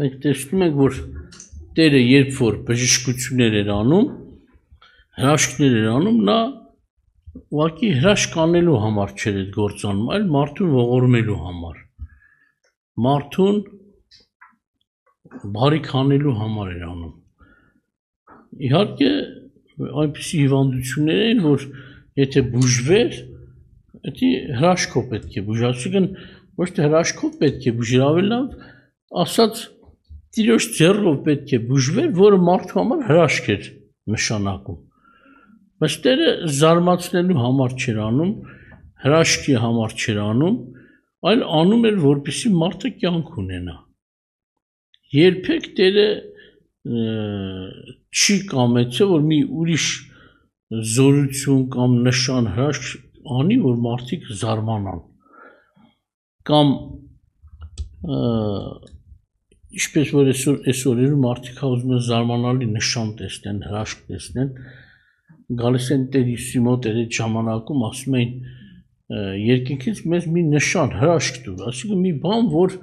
մենք տեսնում ենք, որ Տերը երբ որ բժշկություններ էր անում, հրաշքներ էր անում, նա ուղղակի հրաշք անելու համար չէր այդ գործ անում, այլ մարդուն ողորմելու համար, մարդուն բարիք անելու համար էր անում։ Իհարկե այնպիսի հիվանդություններ են, որ եթե բուժվեր, դա հրաշքով պետք է բուժել, այսինքն ոչ թե հրաշքով պետք է բուժել, ավելի լավ ասած Տիրոջ ձեռով պետք է բուժվեր, որը մարդու համար հրաշք էր նշանակում։ Բայց Տերը զարմացնելու համար չէր անում, հրաշքի համար չէր անում, այլ անում էր, որպեսզի մարդը կյանք ունենա։ Երբեք Տերը չի կամեցել, որ մի ուրիշ զորություն կամ նշան հրաշք անի, որ մարդիկ զարմանան։ Կամ Ինչպես որ այսօր մարդիկ ուզում են զարմանալի նշան տեսնեն, հրաշք տեսնեն, գալիս են Տեր Հիսուսի մոտ այդ ժամանակում ասում են երկինքից մեզ մի նշան, հրաշք տուր, այսինքն մի բան, որ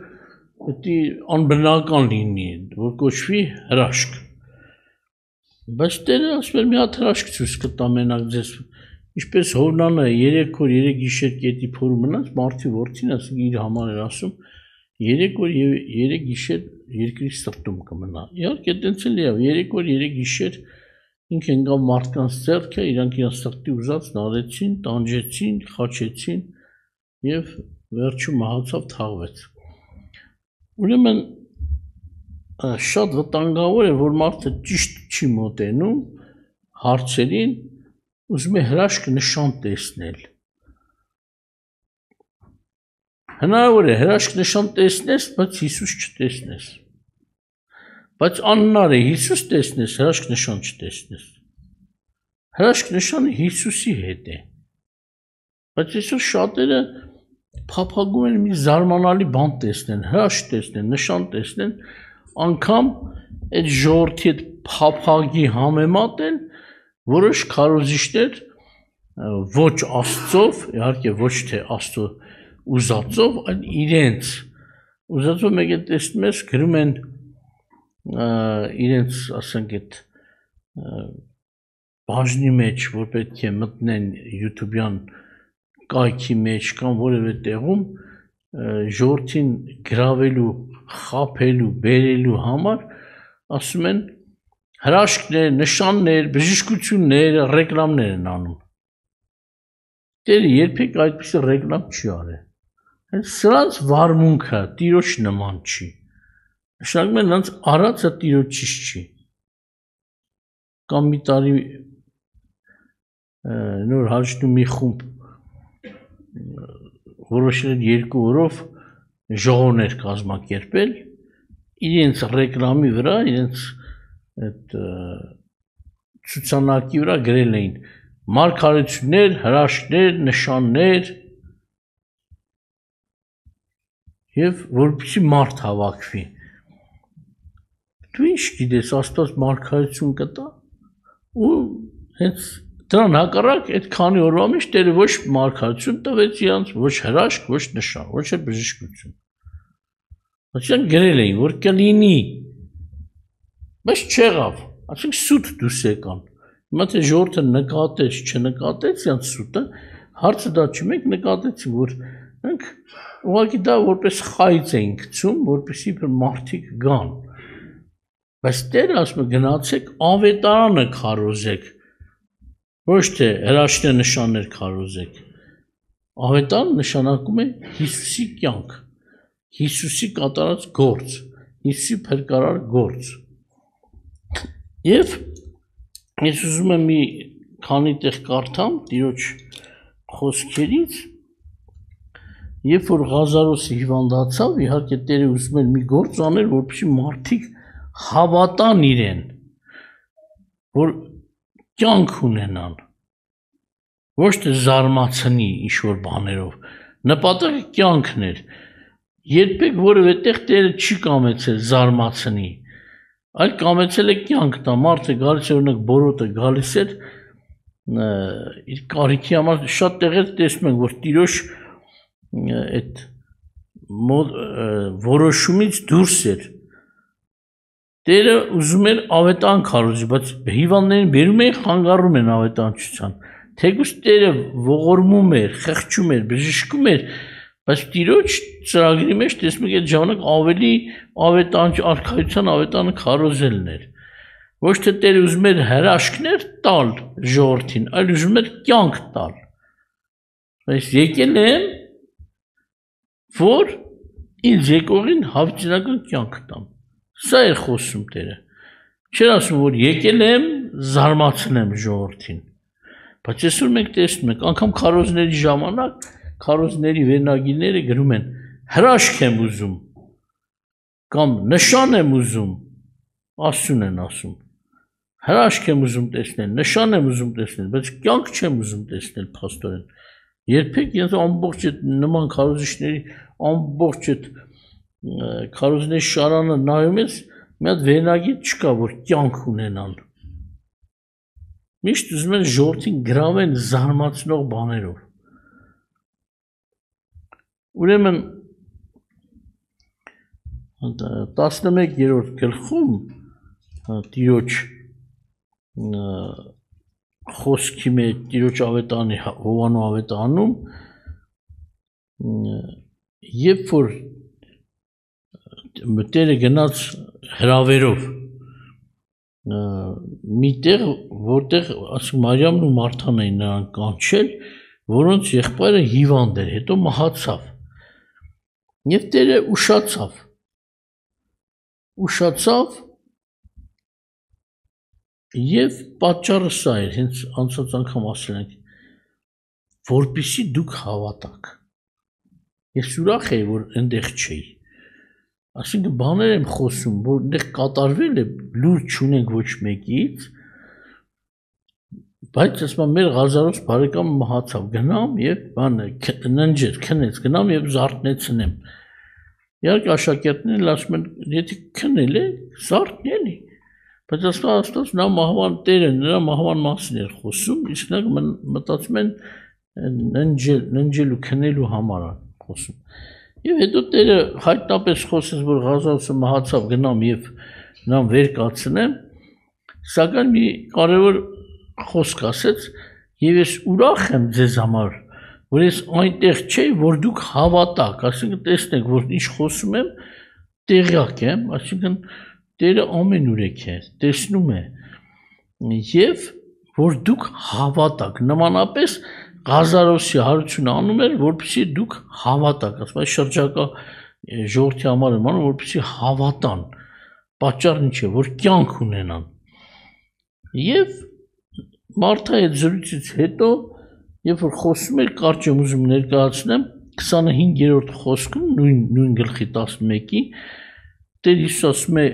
դա անբնական լինի, որ կոչվի հրաշք։ Բայց Տերը ասում էր մի հատ հրաշք ցույց կտա մենակ ձեզ, ինչպես Հովնանը 3 օր 3 գիշեր կետի փորում մնաց, մարդի որդին ասում իր համար էր ասում 3 օր եւ 3 գիշեր երկրի սրտում կմնա։ Իհարկե այդպես էլ է, 3 օր 3 գիշեր ինքը ընկավ մարդկանց ձեռքը, իրանք իրենց սրտի ուզած նարեցին, տանջեցին, խաչեցին եւ վերջում մահացավ, թաղվեց։ Ուրեմն շատ վտանգավոր է, որ մարդը ճիշտ չի մոտենում հարցերին, ուզում է հրաշք նշան տեսնել։ Հնարավոր է հրաշք նշան տեսնես, բայց Հիսուս չտեսնես։ Բայց անհնար է Հիսուս տեսնես, հրաշք նշան չտեսնես։ Հրաշք նշանը Հիսուսի հետ է։ Բայց այսօր շատերը փափագում են մի զարմանալի բան տեսնեն, հրաշք տեսնեն, նշան տեսնեն, անգամ այդ ժողովրդի հետ փափագի համեմատ են որոշ քարոզիչներ ոչ Աստծով, իհարկե ոչ թե Աստծո ուզածով, այլ իրենց ուզածով մեկ է տեսնում ես գրում են իրենց, ասենք այդ բաժնի մեջ, որ պետք է մտնեն YouTube-յան կայքի մեջ կամ որևէ տեղում ժողովրդին գրավելու, խաբելու, բերելու համար ասում են հրաշքներ, նշաններ, բժշկություններ, ռեկլամներ են անում։ Տերը երբեք այդպիսի ռեկլամ չի արել։ Սրանց վարմունքը Տիրոջ նման չի։ Նշանակում է նրանց արածը Տիրոջից չի։ Կամ մի տարի նոր հաշտու մի խումբ որոշել 2 օրով ժողովներ կազմակերպել, իրենց ռեկլամի վրա, իրենց այդ ցուցանակի վրա գրել էին մարգարեություններ, հրաշքներ, նշաններ եւ որպեսզի մարդ հավաքվի։ Դու ինչ գիտես, Աստված մարգարեություն կտա։ Ու հենց դրան հակառակ այդ քանի օրվա մեջ Տերը ոչ մարգարեություն տվեց իրանց, ոչ հրաշք, ոչ նշան, ոչ էլ բժշկություն։ Այսինքն գրել էին, որ կլինի, բայց չեղավ, այսինքն սուտ դուրս եկան։ Հիմա թե ժողովուրդը նկատեց, չնկատեց իրանց սուտը, հարցը դա չի, մենք նկատեցինք, որ մենք ուղղակի դա որպես խայծ էինք գցում, որպեսզի մարդիկ գան։ Բայց Տերը ասում է գնացեք ավետարանը քարոզեք, ոչ թե հրաշքներ նշաններ քարոզեք։ Ավետարանը նշանակում է Հիսուսի կյանք, Հիսուսի կատարած գործ, Հիսուսի փրկարար գործ։ Եվ ես ուզում եմ մի քանի տեղ կարդամ Տիրոջ խոսքերից, երբ որ Ղազարոսը հիվանդացավ, իհարկե Տերը ուզում էր մի գործ անել, որպեսզի մարդիկ հավատան իրեն, որ կյանք ունենան, ոչ թե զարմացնի ինչ-որ բաներով, նպատակը կյանքն էր, երբեք որևէ տեղ Տերը չի կամեցել զարմացնի, այլ կամեցել է կյանք տա, մարդը գալիս է, օրինակ բորոտը գալիս էր, իր կարիքի համար շատ տեղեր տեսնում ենք, որ Տիրոջ այդ որոշումից դուրս էր, Տերը ուզում էր ավետան քարոզի, բայց հիվանդներին բերում էին, խանգարում են ավետանչության։ Թեկուզ Տերը ողորմում էր, խեղճում էր, բժշկում էր, բայց Տիրոջ ծրագրի մեջ տեսնում եք այդ ժամանակ ավելի ավետանչ արքայության ավետանը քարոզելն էր։ Ոչ թե Տերը ուզում էր հրաշքներ տալ ժողովրդին, այլ ուզում էր կյանք տալ։ Բայց եկել եմ, որ ինձ եկողին հավիտենական կյանք տամ։ Սա էր խոսում Տերը։ Չէր ասում, որ եկել եմ զարմացնեմ ժողովրդին։ Բայց այսօր մենք տեսնում ենք, անգամ քարոզների ժամանակ քարոզների վերնագիրները գրում են հրաշք եմ ուզում կամ նշան եմ ուզում, Աստծուն են ասում։ Հրաշք եմ ուզում տեսնել, նշան եմ ուզում տեսնել, բայց կյանք չեմ ուզում տեսնել փաստորեն։ Երբեք ես ամբողջ այդ նման քարոզիչների ամբողջ այդ քարոզների շարանը նայում ես, մի հատ վերնագիր չկա, որ կյանք ունենան։ Միշտ ուզում են ժողովրդին գրավեն զարմացնող բաներով։ Ուրեմն 11-րդ գլխում Տիրոջ խոսքի մեջ Տիրոջ ավետանի Հովանու ավետանում երբ որ Տերը գնաց հրավերով միտեղ որտեղ ասում Մարիամն ու Մարթան էին նրան կանչել, որոնց եղբայրը հիվանդ էր, հետո մահացավ։ Եվ Տերը ուշացավ եւ պատճառը սա էր, հենց անցած անգամ ասել ենք, որպեսզի դուք հավատաք։ Ես ուրախ եի, որ այնտեղ չէի։ Այսինքն բաներ եմ խոսում, որ այնտեղ կատարվել է, լուր չունենք ոչ մեկից, բայց ասում մեր Ղազարոս բարեկամը մահացավ, գնամ եւ բանը ննջեր, քնեց, գնամ եւ զարթնեցնեմ։ Իհարկե աշակերտներն ասում են, եթե քնել է, զարթնի էլի։ Բայց Աստված նա մահվան Տերը նրա մահվան մասին էր խոսում, իսկ նա մտածում են ննջելու, քնելու համար է խոսում։ Եվ հետո Տերը հայտնապես խոսեց, որ Ղազարոսը մահացավ, գնամ եւ նրան վեր կացնեմ, սակայն մի կարևոր խոսք ասեց, եւ ես ուրախ եմ ձեզ համար, որ ես այնտեղ չէի, որ դուք հավատաք, այսինքն տեսնեք, որ ինչ խոսում եմ, տեղյակ եմ, այսինքն Տերը ամենուրեք է, տեսնում է, եւ որ դուք հավատաք, նմանապես Ղազարոսի հարությունը անում էր, որպեսզի դուք հավատաք, ասում այս շրջակա ժողովրդի համար եմ անում, որպեսզի հավատան, պատճառն ինչ է, որ կյանք ունենան։ Եվ Մարթայի այդ զրույցից հետո, երբ որ խոսում էր, կարճ եմ ուզում ներկայացնեմ 25-րդ խոսքում, նույն գլխի 11-ի, Տեր Հիսուս ասում է.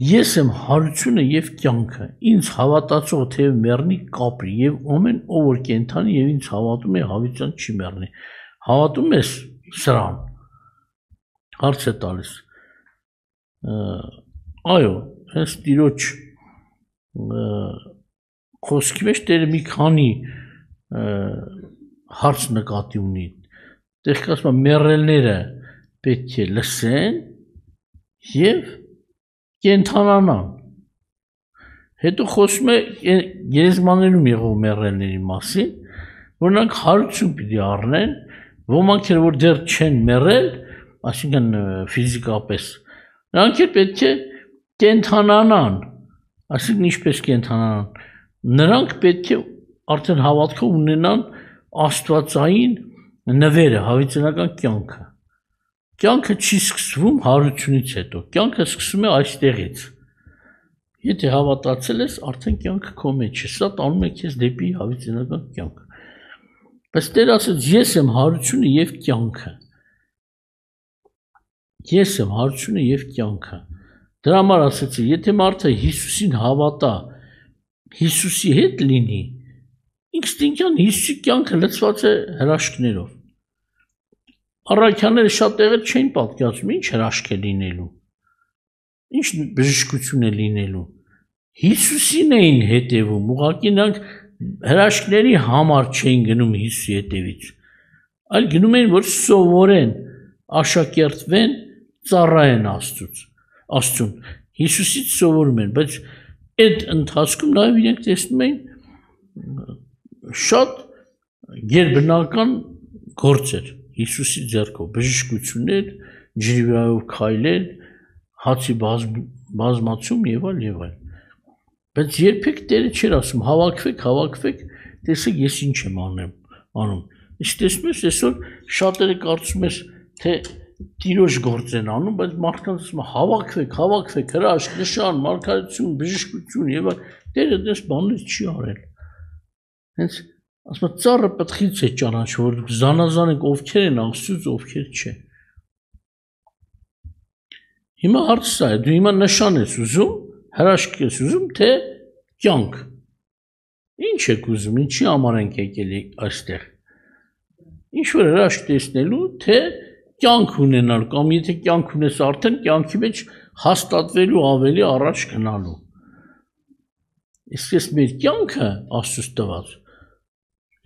Ես եմ հարությունը եւ կյանքը, ինձ հավատացող թե մեռնի կապրի, եւ ամեն ով որ կենթանի եւ ինձ հավատում է, հավիտյան չի մեռնի։ Հավատում ես սրան։ Հարց է տալիս։ Այո, հենց Տիրոջ խոսքի մեջ Տերը մի քանի հարց նկատի ունի։ Տեղ ասում է մեռելները պետք է լսեն եւ կենթանանան։ Հետո խոսում է գերեզմաներում եղող մեռելների մասին, որ նրանք հարություն պիտի առնեն, ոմանք էլ որ դեռ չեն մեռել, այսինքն ֆիզիկապես, նրանք էլ պետք է կենթանանան, այսինքն ինչպես կենթանանան, նրանք պետք է արդեն հավատքով ունենան աստվածային նվերը, հավիտենական կյանքը։ Կյանքը չի սկսվում հարությունից հետո, կյանքը սկսվում է այստեղից։ Եթե հավատացել ես, արդեն կյանքը քո մեջ է, սա տանում է քեզ դեպի հավիտենական կյանք։ Բայց Տերը ասաց, ես եմ հարությունը եւ կյանքը։ Ես եմ հարությունը եւ կյանքը։ Դրա համար ասաց, եթե մարդը Հիսուսին հավատա, Հիսուսի հետ լինի, ինստինկտիվորեն Հիսուսի կյանքը լցված է հրաշքներով։ Առաքյանները շատ տեղեր չէին պատկերացնում, ինչ հրաշք է լինելու, ինչ բժշկություն է լինելու։ Հիսուսին էին հետևում, ուղղակի նրանք հրաշքների համար չէին գնում Հիսուսի հետևից, այլ գնում էին, որ սովորեն, աշակերտվեն, ծառայեն Աստծուն։ Հիսուսից սովորում են, բայց այդ ընթացքում նաև իրենք տեսնում էին շատ գերբնական գործեր Հիսուսի ձեռքով, բժշկություններ, ջրի վրայով քայլել, հացի բազմացում եւ այլ։ Բայց երբեք Տերը չէր ասում հավաքվեք, տեսեք ես ինչ եմ անում։ Իսկ տեսնում ես այսօր շատերը կարծում ես թե Տիրոջ գործ են անում, բայց մարդկանց ասում հավաքվեք, հրաշք, նշան, մարգարեություն, բժշկություն եւ այլ։ Տերը դες բաներ չի արել։ Հենց ասում ծառը պտղից է ճանաչում, որ դուք զանազանեք ովքեր են Աստծուց, ովքեր չէ։ Հիմա հարցը սա է, դու հիմա նշան ես ուզում, հրաշք ես ուզում, թե կյանք։ Ինչ եք ուզում, ինչի համար ենք եկել այստեղ։ Ինչ որ հրաշք տեսնելու, թե կյանք ունենալ, կամ եթե կյանք ունես արդեն կյանքի մեջ հաստատվելու ավելի առաջ գնալու։ Իսկ ես մեր կյանքը Աստծուց տված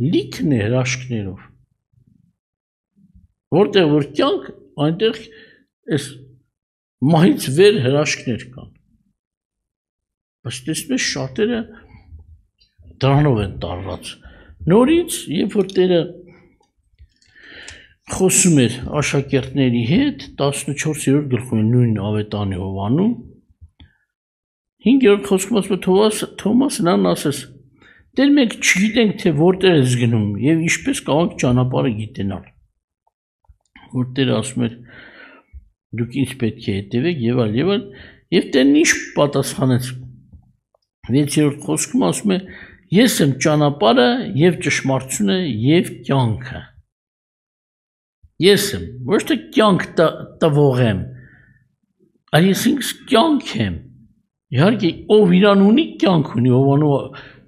լիքն է հրաշքներով։ Որտեղ որ կյանք, այնտեղ այս մահից վեր հրաշքներ կան։ Բայց տեսնում ես շատերը դրանով են տարված։ Նորից, երբ որ Տերը խոսում էր աշակերտների հետ 14-րդ գլխում նույն ավետանի Հովանում 5-րդ խոսքում ասում է Թոմասն ասես Տեր մենք չգիտենք թե որտեղ ես գնում եւ ինչպես կարող ճանապարհը գիտենալ որ Տերը ասում էր դուք ինձ պետք է հետևեք եւ այլ եւ Տերն ինչ պատասխանեց 6-րդ խոսքում ասում է ես եմ ճանապարհը եւ ճշմարտությունը եւ կյանքը Ես եմ, ոչ թե կյանք տվող եմ, այլ ես ինքս կյանք եմ, իհարկե ով իրան ունի կյանք ունի, ով անու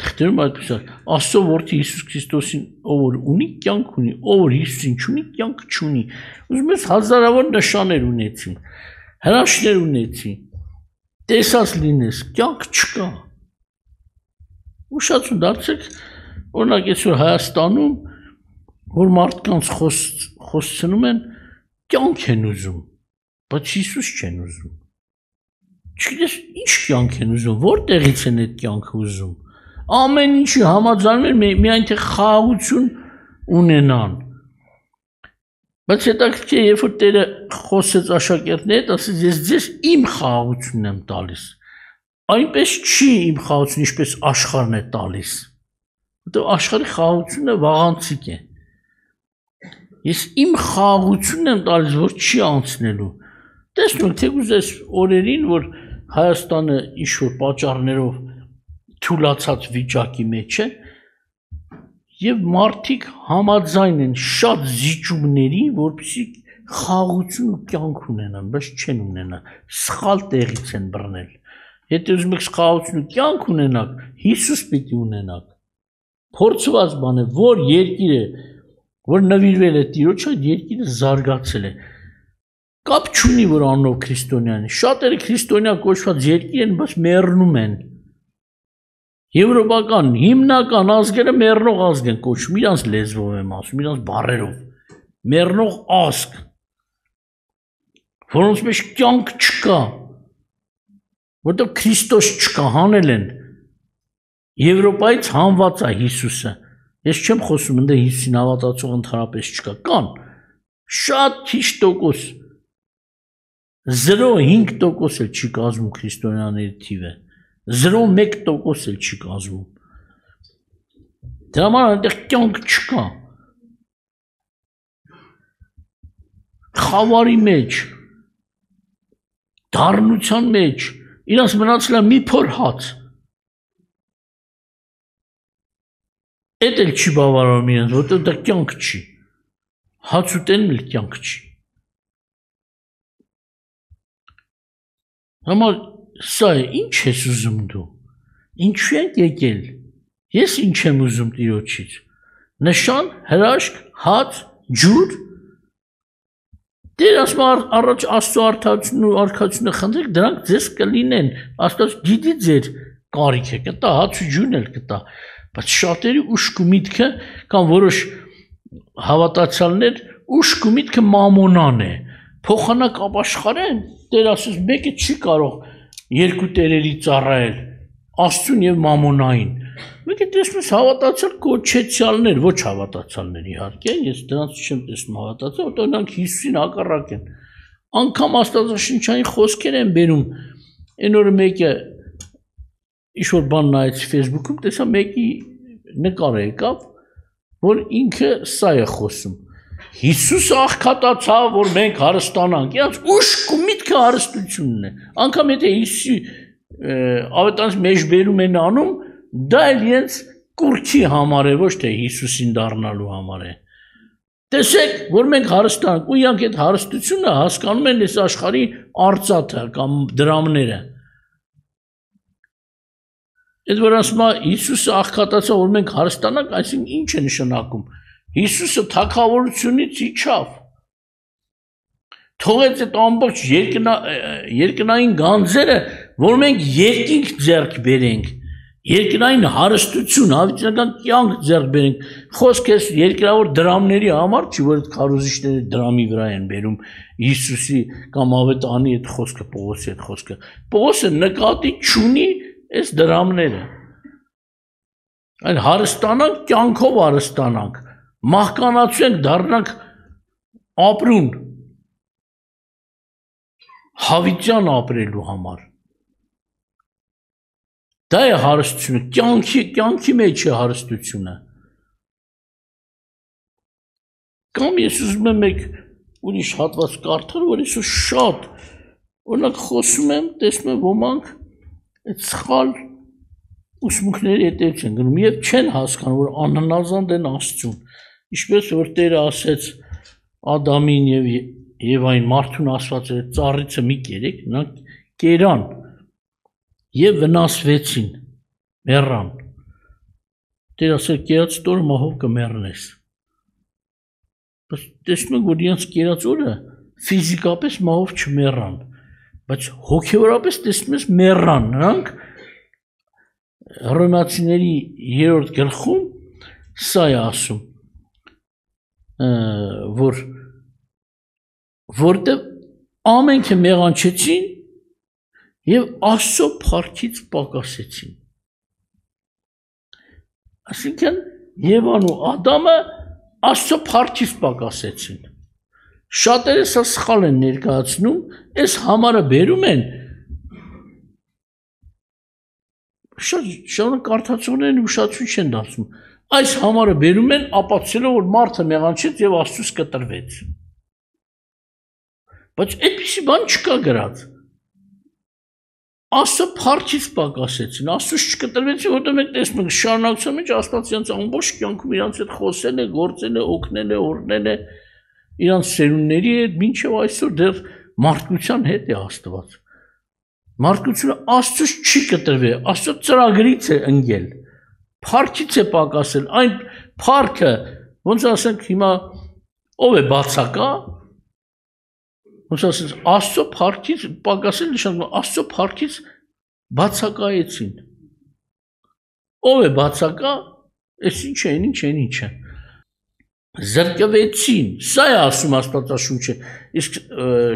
թղթերում այդպես Աստծո որդի Հիսուս Քրիստոսին ով որ ունի կյանք ունի, ով որ Հիսուսին չունի կյանք չունի, ուզում ես հազարավոր նշաններ ունեցին, հրաշքներ ունեցին, տեսած լինես, կյանք չկա, ուշացում դարձեք, օրինակ այսօր Հայաստանում որ մարդկանց խոսցնում են կյանք են ուզում, բայց Հիսուս չեն ուզում։ Չգիտես ինչ կյանք են ուզում, որտեղից են այդ կյանքը ուզում։ Ամեն ինչի համաձայնում են միայն թե խաղաղություն ունենան։ Բայց հետաքրքիր է, երբ որ Տերը խոսեց աշակերտների հետ, ասեց ես ձեզ իմ խաղաղությունն եմ տալիս։ Այնպես չի իմ խաղաղությունը, ինչպես աշխարհն է տալիս։ Որտեղ աշխարհի խաղաղությունը վաղանցիկ է։ Ես իմ խաղաղությունն եմ տալիս, որ չի անցնելու։ Տեսնում եք, թեկուզ այս օրերին, որ Հայաստանը ինչ-որ պատճառներով թուլացած վիճակի մեջ է, եւ մարդիկ համաձայն են շատ զիջումների, որպեսզի խաղաղություն ու կյանք ունենան, բայց չեն ունենա, սխալ տեղից են բռնել։ Եթե ուզում եք խաղաղություն ու կյանք ունենաք, Հիսուս պիտի ունենաք։ Փորձված բան է, որ երկիրը որ նվիրվել է Տիրոջ, այդ երկիրը զարգացել է։ Կապ չունի, որ անունով քրիստոնյան է։ Շատերը քրիստոնյա կոչված երկիր են, բայց մեռնում են։ Եվրոպական հիմնական ազգերը մեռնող ազգ են կոչվում, իրանց լեզվով եմ ասում, իրանց բառերով։ Մեռնող ազգ, որոնց մեջ կյանք չկա, որտեղ Քրիստոս չկա, հանել են։ Եվրոպայից հանված է Հիսուսը։ Ես չեմ խոսում, ընդ Հիսուսին հավատացող ընդհանրապես չկա, կան շատ քիչ տոկոս 0.5% էլ չի կազմում քրիստոնյաների թիվը 0.1% էլ չի կազմում դրա համար այնտեղ կյանք չկա խավարի մեջ դառնության մեջ իրանց մնացել է մի փոր հաց Էդ էլ չի բավարարում իրենց, որտեղ դա կյանք չի։ Հաց ուտելն էլ կյանք չի։ Համար սա է, ինչ ես ուզում դու։ Ինչու եք եկել։ Ես ինչ եմ ուզում Տիրոջից։ Նշան, հրաշք, հաց, ջուր։ Տեր ասում առաջ Աստծո արդարությունն ու արքայությունը խնդրեք, դրանք ձեզ կլինեն։ Աստված գիտի ձեր կարիքը, կտա հաց ու ջուրն էլ կտա։ Բայց շատերի ուշք ու միտքը կամ որոշ հավատացյալներ ուշք ու միտքը մամոնան է, փոխանակ ապաշխարեն, Տեր ասես մեկը չի կարող երկու տերերի ծառայել, Աստծուն եւ մամոնային։ Մենք է տեսնում հավատացյալ կոչեցյալներ, ոչ հավատացյալներ իհարկե, ես դրանց չեմ տեսնում հավատացյալ, որտեղ նրանք Հիսուսին հակառակ են։ Անկամ Աստվածաշնչային խոսքեր են բերում։ Այն օրը մեկը ինչ-որ բան նայեց Facebook-ում, տեսա մեկի նկարը եկավ, որ ինքը սա է խոսում։ Հիսուսը աղքատացավ, որ մենք հարստանանք։ Իրանց ուշք ու միտքը հարստությունն է։ Անկամ եթե Հիսուսի ավետարանից մեջ բերում են անում, դա էլ իրենց կուրքի համար է, ոչ թե Հիսուսին դառնալու համար է։ Տեսեք, որ մենք հարստանանք, ու իրանք այդ հարստությունը հասկանում են այս աշխարհի արծաթը կամ դրամները։ Այդ որ ասում է Հիսուսը աղքատացավ, որ մենք հարստանանք, այսինքն ինչ է նշանակում։ Հիսուսը թագավորությունից իջավ։ Թողեց այդ ամբողջ երկնային գանձերը, որ մենք երկինք ձեռք բերենք, երկնային հարստություն, հավիտենական կյանք ձեռք բերենք։ Խոսք է երկրավոր դրամների համար, չի որ այդ քարոզիչները դրամի վրա են բերում Հիսուսի կամ ավետարանի այդ խոսքը, Պողոսի այդ խոսքը։ Պողոսը նկատի չունի այս դրամները։ Այն հարստանանք, կյանքով հարստանանք, մահկանացու դառնանք ապրուն, հավիտյան ապրելու համար։ Դա է հարստությունը, կյանքի մեջ է հարստությունը։ Կամ ես ուզում եմ մեկ ուրիշ հատված կարդալ, որ ես շատ, օրինակ խոսում եմ, տեսնում եմ ոմանք այդ սխալ ուսմունքների հետևից են գնում եւ չեն հասկանում, որ անհնազանդ են Աստծուն։ Ինչպես որ Տերը ասեց Ադամին եւ Եվային մարդուն ասված էր ծառիցը մի կերեք, նրանք կերան եւ վնասվեցին, մեռան։ Տերը ասել կերած օրը մահով կմեռնես։ Բայց տեսնում եք, որ իրենց կերած օրը ֆիզիկապես մահով չմեռան, բայց հոգեորապես տեսնում ես մեռան, նրանք Հռոմեացիների 3-րդ գլխում սա է ասում, որտեղ ամենքը մեղանչեցին եւ Աստծո փառքից պակասեցին։ Այսինքն Եվան ու Ադամը Աստծո փառքից պակասեցին։ Շատերը սա սխալ են ներկայացնում, այս համարը բերում են շատ կարդացողներն ուշադրություն չեն դարձնում։ Այս համարը բերում են ապացուցելով, որ մարդը մեղանչեց եւ Աստծուց կտրվեց։ Բայց այդպիսի բան չկա գրած։ Աստծո փառքից պակասեցին, Աստծուց չկտրվեցին, որտեղ մենք տեսնում ենք շարունակության մեջ Աստված իրենց ամբողջ կյանքում իրանց հետ խոսել է, գործել է, օգնել է, օրհնել է իրանց սերունդների հետ, մինչև այսօր դեռ մարդկության հետ է Աստված։ Մարդկությունը Աստծուց չի կտրվել, Աստծո ծրագրից է ընկել, փառքից է պակասել, այն փառքը, ոնց ասենք հիմա ով է բացակա, ոնց ասես Աստծո փառքից պակասել նշանակում Աստծո փառքից բացակայեցին։ Ով է բացակա, այս ինչ է։ Զրկվեցին, սա է ասում Աստվածաշունչը, իսկ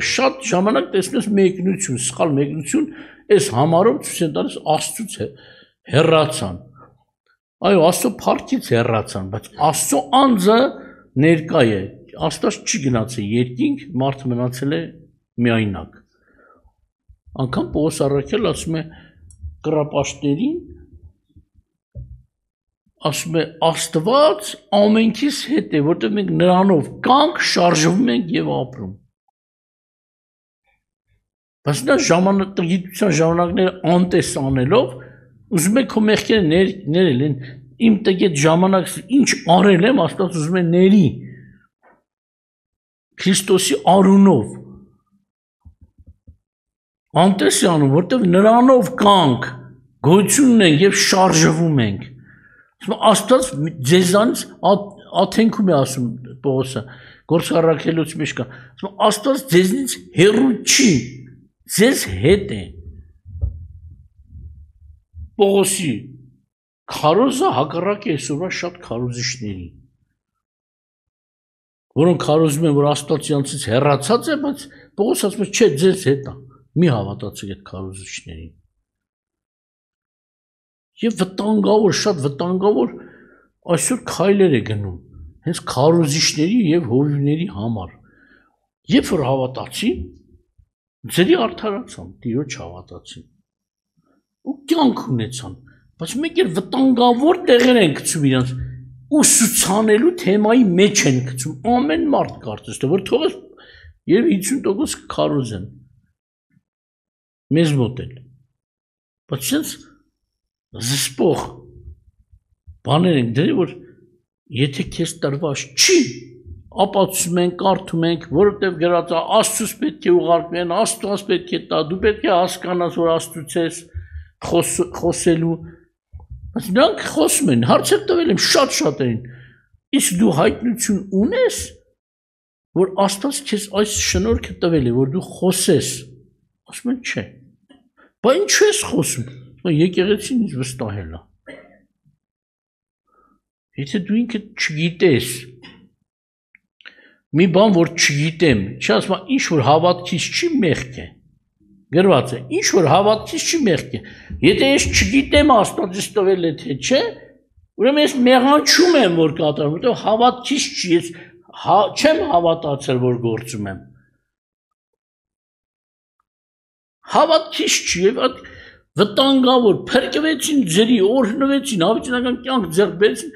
շատ ժամանակ տեսնում ես մեկնություն, սխալ մեկնություն, այս համարով ցույց են տալիս Աստծուց է հեռացան։ Այո, Աստծո փառքից հեռացան, բայց Աստծո անձը ներկա է, Աստված չի գնացել երկինք, մարդը մնացել է միայնակ։ Անկամ Պողոս առաքյալը ասում է կռապաշտներին, ասում է Աստված ամենքիս հետ է, որտեղ մենք նրանով կանք շարժվում ենք եւ ապրում։ Բայց նա ժամանակագիտության ժամանակները անտես անելով, ուզում է քո մեղքերը ներել են, իմ տեղ ժամանակ ինչ արել եմ, Աստված ուզում է ների Քրիստոսի արունով։ Անտես է անում, որտեղ նրանով կանք գոյություն ունենք եւ շարժվում ենք։ Աստված ձեզանից աթենքում է ասում Պողոսը, Գործք առաքելուց մեջ կա։ Աստված ձեզնից հեռու չի, ձեզ հետ է։ Պողոսի քարոզը հակառակ է այսօրվա շատ քարոզիչների, որոնք քարոզում են, որ Աստված իրանցից հեռացած է, բայց Պողոս ասում է, չէ, ձեզ հետ է, մի հավատացեք այդ քարոզիչներին։ Եվ վտանգավոր, շատ վտանգավոր այսօր քայլեր է գնում հենց քարոզիչների եւ հովիվների համար։ Երբ որ հավատացին, ձերի արդարացան, Տիրոջ հավատացին։ Ու կյանք ունեցան, բայց մեկ էլ վտանգավոր տեղեր են գցում իրանց ուսուցանելու թեմայի մեջ են գցում։ Ամեն մարդ կարծես թե որ թողես եւ 50% քարոզեն։ Մեզ մոտ էլ։ Բայց sense զսպող բաներ են դրել, որ եթե քեզ տրված չի, ապացուցում ենք, կարդում ենք, որովհետև գրած է Աստծուց պետք է ուղարկվեն, Աստված պետք է տա, դու պետք է հասկանաս, որ Աստծուց ես խոսելու, բայց նրանք խոսում են, հարցեր տվել եմ շատ-շատերին, իսկ դու հայտնություն ունես, որ Աստված քեզ այս շնորհքը տվել է, որ դու խոսես, ասում են չէ, բա ինչու ես խոսում, եկեղեցին ինձ վստահել է, եթե դու ինքդ չգիտես, մի բան, որ չգիտեմ, չի ասում, ինչ որ հավատքից չի մեղք է, գրված է, ինչ որ հավատքից չի մեղք է, եթե ես չգիտեմ Աստված ինձ տվել է թե չէ, ուրեմն ես մեղանչում եմ, որ կատարում, որտեղ հավատքից չի, ես չեմ հավատացել, որ գործում եմ, հավատքից չի, եւ վտանգավոր, փրկվեցին ձերի, օրհնվեցին, հավիտենական կյանք ձեռք բերեցին,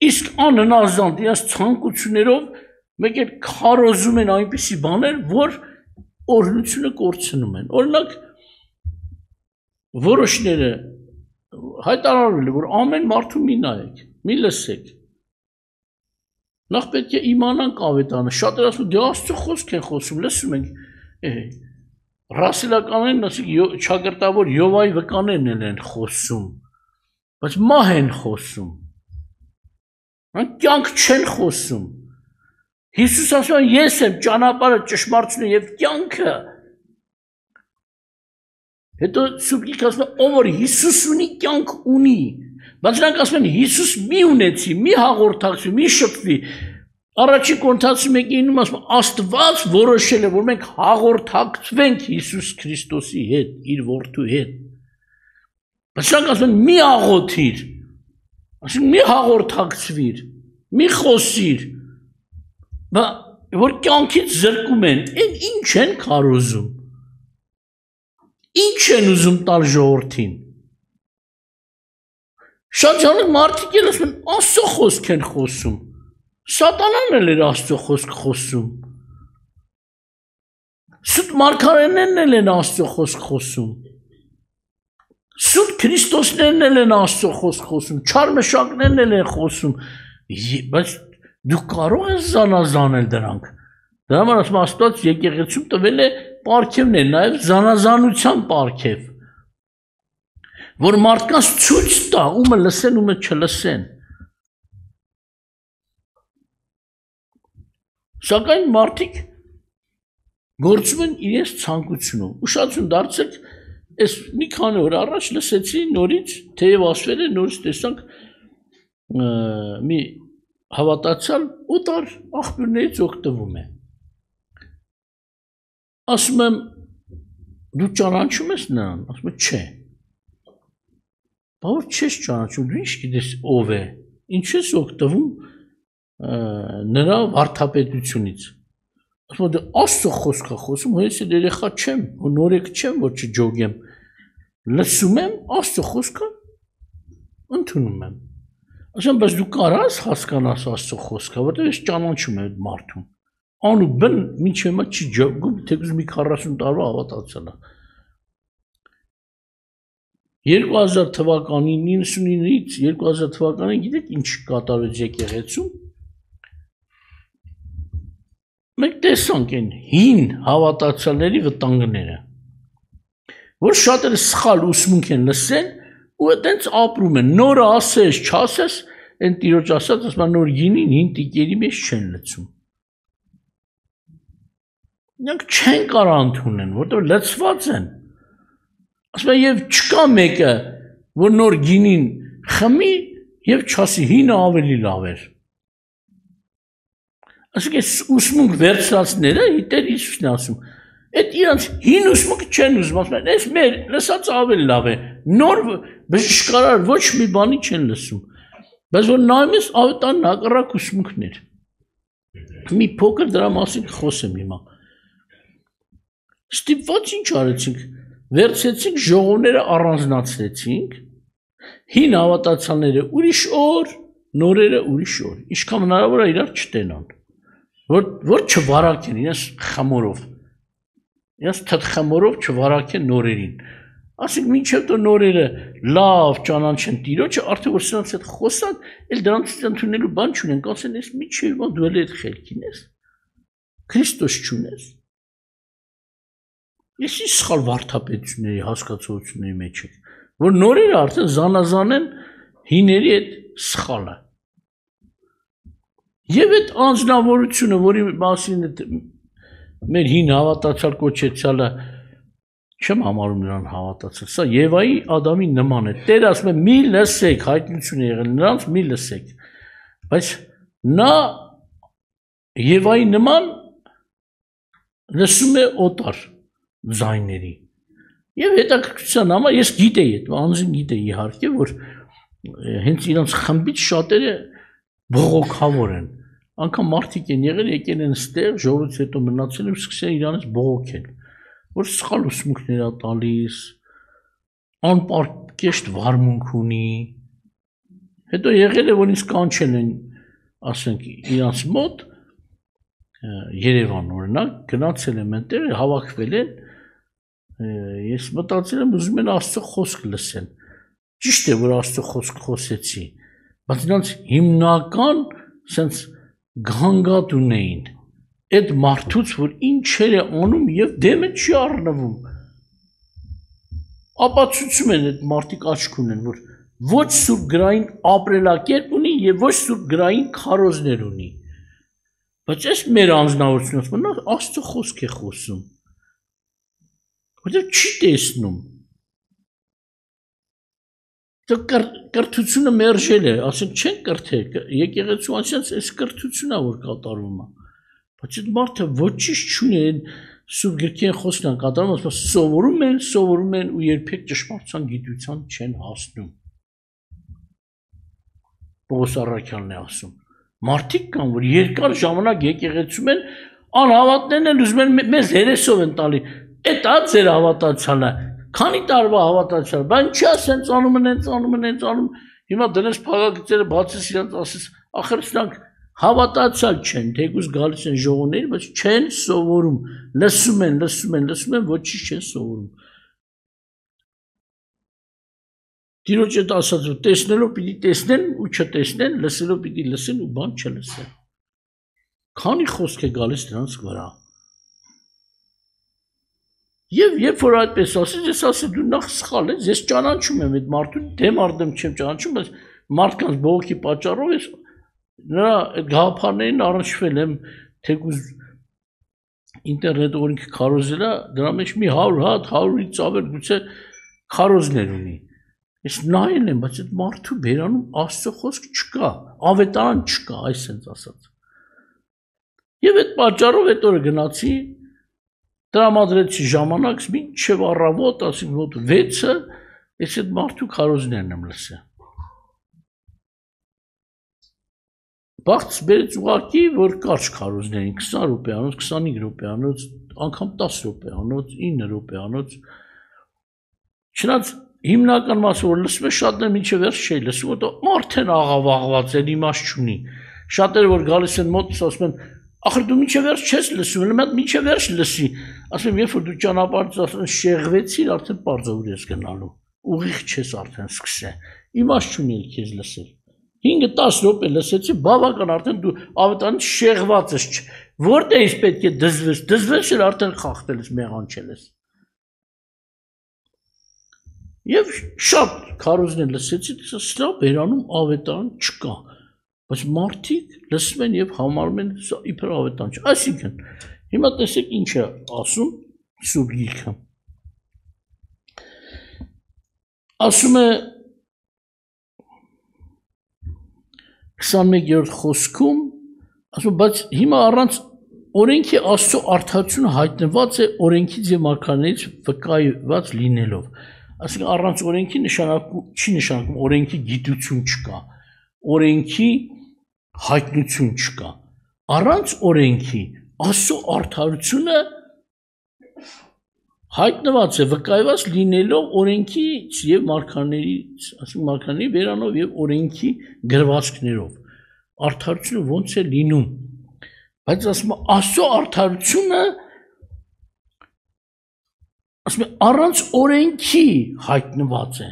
իսկ անհնազանդ իրաց ցանկություններով մեկ էլ քարոզում են այնպիսի բաներ, որ օրհնությունը կորցնում են։ Օրինակ, որոշները հայտարարել է, որ ամեն մարդու մի նայեք, մի լսեք։ Նախ պետք է իմանանք ավետարանը, շատերը ասում, դե Աստծո խոսք են խոսում, լսում ենք, ռասիլականներն, ասիկ չակրտավոր Յովայի վկաներն են խոսում, բայց մահ են խոսում, կյանք չեն խոսում, Հիսուս ասում ես եմ ճանապարհը, ճշմարտությունը եւ կյանքը, հետո Սուրբ ասում ով որ Հիսուս ունի, կյանք ունի, բայց նրանք ասում են Հիսուս մի ունեցի, մի հաղորդակցվի, մի շփվի, Առաջին Կորինթացի 1:9-ում ասում Աստված որոշել է, որ մենք հաղորդակցվենք Հիսուս Քրիստոսի հետ, իր որդու հետ։ Բայց նրանք ասում են մի աղոթիր, ասում մի հաղորդակցվիր, մի խոսիր, որ կյանքից զրկում են, ինչ են քարոզում, ինչ են ուզում տալ ժողովրդին։ Շատ ժանակ մարդիկ են ասում, Աստծո խոսք են խոսում, Սատանան էլ էր Աստծո խոսք խոսում, սուտ մարգարեներն էլ են Աստծո խոսք խոսում, սուտ Քրիստոսներն էլ են Աստծո խոսք խոսում, չար մշակներն էլ են խոսում, բայց դու կարող ես զանազանել դրանք, դրա համար ասում Աստված եկեղեցում տվել է պարգևներ, նաև զանազանության պարգև, որ մարդկանց ցույց տա, ումը լսեն, ումը չլսեն։ Սակայն մարդիկ գործում են իրենց ցանկությունով, ուշադրություն դարձեք, այս մի քանի օր առաջ լսեցի նորից, թեև ասվել է նորից տեսանք մի հավատացյալ օտար աղբյուրներից օգտվում է։ Ասում եմ, դու ճանաչում ես նրան, ասում եմ, չէ։ Բա որ չես ճանաչում, դու ինչ գիտես ով է, ինչ ես օգտվում նրա վարդապետությունից։ Ասում եմ, դե Աստծո խոսքը խոսում, հենց էլ երեխա չեմ, նորեկ չեմ, որ չջոգեմ։ Լսում եմ Աստծո խոսքը, ընդունում եմ։ Ասում եմ, բայց դու կարաս հասկանաս Աստծո խոսքը, որտեղ ես ճանաչում եմ այդ մարդուն։ Անուբն մինչ հիմա չի ջոգում, թեկուզ մի 40 տարվա հավատացել է։ 2000 թվականին 99-ից 2000 թվականին գիտեք ինչ կատարվեց եկեղեցում։ Մենք տեսանք այն հին հավատացյալների վտանգները, որ շատերը սխալ ուսմունք են լսել ու այդպես ապրում են, նորը ասես, չասես, այն Տիրոջ ասած, ասում նոր գինին հին տիկերի մեջ չեն լցում։ Նրանք չեն կարող ընդունեն, որտեղ լցված են։ Ասում են, եւ չկա մեկը, որ նոր գինին խմի եւ չասի հինը ավելի լավ էր։ Ասենք այս ուսմունք վերցրածները Տեր Հիսուսն է ասում, Այդ իրանց հին ուսմունքը չեն ուզում, ասում են, այս մեր լսած ավելի լավ է, նոր բժշկարար ոչ մի բանի չեն լսում, բայց որ նայում ես ավետարան հակառակ ուսմունքներ, մի փոքր դրա մասին խոսեմ հիմա, ստիպված ինչ արեցինք, վերցեցինք ժողովները առանձնացրեցինք, հին հավատացյալները ուրիշ օր, նորերը ուրիշ օր, ինչքան հնարավոր է իրար չտենան, որ չվարակեն իրենց խմորով, իրենց թթխմորով չվարակեն նորերին, ասենք մինչև դու նորերը լավ ճանաչեն Տիրոջը, արդեն որ սրանց հետ խոսան, էլ դրանցից ընդունելու բան չունեն, ասեն, ես միջև դու էլ այդ խելքին ես, Քրիստոս չունես, ես ի սխալ վարդապետությունների հասկացությունների մեջ եք, որ նորերը արդեն զանազան են հիների այդ սխալը, և այդ անձնավորությունը, որի մասին մեր հին հավատացյալ կոչեցյալը չեմ համարում նրան հավատացել, սա Եվայի Ադամի նման է, Տեր ասում է մի լսեք, հայտնություն է եղել, նրանց մի լսեք, բայց նա Եվայի նման լսում է օտար ձայների և հետաքրքրության համար ես գիտեի, անձին գիտեի իհարկե, որ հենց իրանց խմբից շատերը բողոքավոր են, անգամ մարդիկ են եղել, եկել են ստեղ, ժողովից հետո մնացել ու սկսել իրանից բողոքել, որ սխալ ուսմունքներ է տալիս, անպարկեշտ վարմունք ունի, հետո եղել է, որ ինձ կանչել են, ասենք, իրանց մոտ, Երևան օրինակ, գնացել եմ այնտեղ, հավաքվել են, ես մտածել եմ, ուզում են Աստծո խոսք լսեն, ճիշտ է, որ Աստծո խոսք խոսեցի, բայց իրանց հիմնական սենց գանգատ ունեին, այդ մարդուց, որ ինչեր է անում և դեմը չի առնվում, ապացուցում են այդ մարդիկ աչք ունեն, որ ոչ սուրբ գրային ապրելակերպ ունի և ոչ սուրբ գրային քարոզներ ունի, բայց այս մեր անձնավորությունը, նա Աստծո խոսք է խոսում, որտեղ չի տեսնում, կրթությունը մերժել է, ասենք չեն կրթել, եկեղեցու անցյալ այս կրթությունն է, որ կատարվում է, բայց այդ մարդը ոչինչ չունի, սուրբ գրքի են խոսքն են կատարում, ասում սովորում են ու երբեք ճշմարտության գիտության չեն հասնում։ Պողոս առաքյալն է ասում։ Մարդիկ կան, որ երկար ժամանակ եկեղեցում են, անհավատներն են ուզում են մեզ հերեսով են տալի, այդ է ձեր հավատացյալը, քանի տարվա հավատացյալ, բան չի ասենց անում են, հիմա դնես փակագծերը բացես իրանց ասես, ախր սրանք հավատացյալ չեն, թեկուզ գալիս են ժողովների, բայց չեն սովորում, լսում են, ոչինչ չեն սովորում։ Տիրոջ այդ ասածը տեսնելով պիտի տեսնեն ու չտեսնեն, լսելով պիտի լսեն ու բան չլսեն։ Քանի խոսք է գալիս դրանց վրա։ Եվ երբ որ այդպես ասես, ես ասել դու նախ սխալ ես, ես ճանաչում եմ այդ մարդուն, դեմ արդեմ չեմ ճանաչում, բայց մարդկանց բողոքի պատճառով ես նրա գաղափարներին առնչվել եմ, թեկուզ ինտերնետ օրինքը քարոզելա, դրա մեջ մի 100 հատ, 100-ից ավել գուցե քարոզներ ունի։ Ես նայել եմ, բայց այդ մարդու բերանում Աստծո խոսք չկա, ավետարան չկա, այսպես ասած։ Եվ այդ պատճառով այդ օրը գնացի, տրամադրեցի ժամանակ, մինչև առավոտ, ասենք մոտ 6-ը, ես այդ մարդու քարոզներն եմ լսել։ Բաղց բերեց ուղղակի, որ կարճ քարոզներին, 20 րոպեանոց, 25 րոպեանոց, անգամ 10 րոպեանոց, 9 րոպեանոց։ Չնայած հիմնական մասը որ լսում է, շատները մինչև վերջ չի լսում, որտեղ արդեն աղավաղված է, իմաստ չունի։ Շատերը որ գալիս են մոտս, ասում են, ախր դու մինչև վերջ չես լսում, ելը մատ մինչև վերջ լսի։ Ասում եմ, երբ որ դու ճանապարհից ասում ես շեղվեցիր, արդեն պարզ ուր ես գնալու։ Ուղիղ չես արդեն սկսել։ Իմաստ չունի քեզ լսել։ 5-10 րոպե լսեցի, բավական արդեն դու ավետարան շեղված ես, որտեղից պետք է դզվես էլ արդեն խախտել ես, մեղանչել ես։ Եվ շատ քարոզներ լսեցի, սրա բերանում ավետարան չկա, բայց մարդիկ լսում են և համարում են իբր ավետարան չէ, այսինքն, հիմա տեսեք ինչ է ասում Սուրբ Գիրքը, ասում է 21-րդ խոսքում, ասում բայց հիմա առանց օրենքի Աստծո արդարությունը հայտնված է օրենքից եւ մարգարեներից վկայված լինելով։ Այսինքն առանց օրենքի չի նշանակում օրենքի գիտություն չկա, օրենքի հայտնություն չկա։ Առանց օրենքի Աստծո արդարությունը հայտնված է վկայված լինելով օրենքից եւ մարգարեներից, այսինքն մարգարեների վերանով եւ օրենքի գրվածքներով։ Արդարությունը ոնց է լինում։ Բայց ասում Աստծո արդարությունը ասում առանց օրենքի հայտնված է։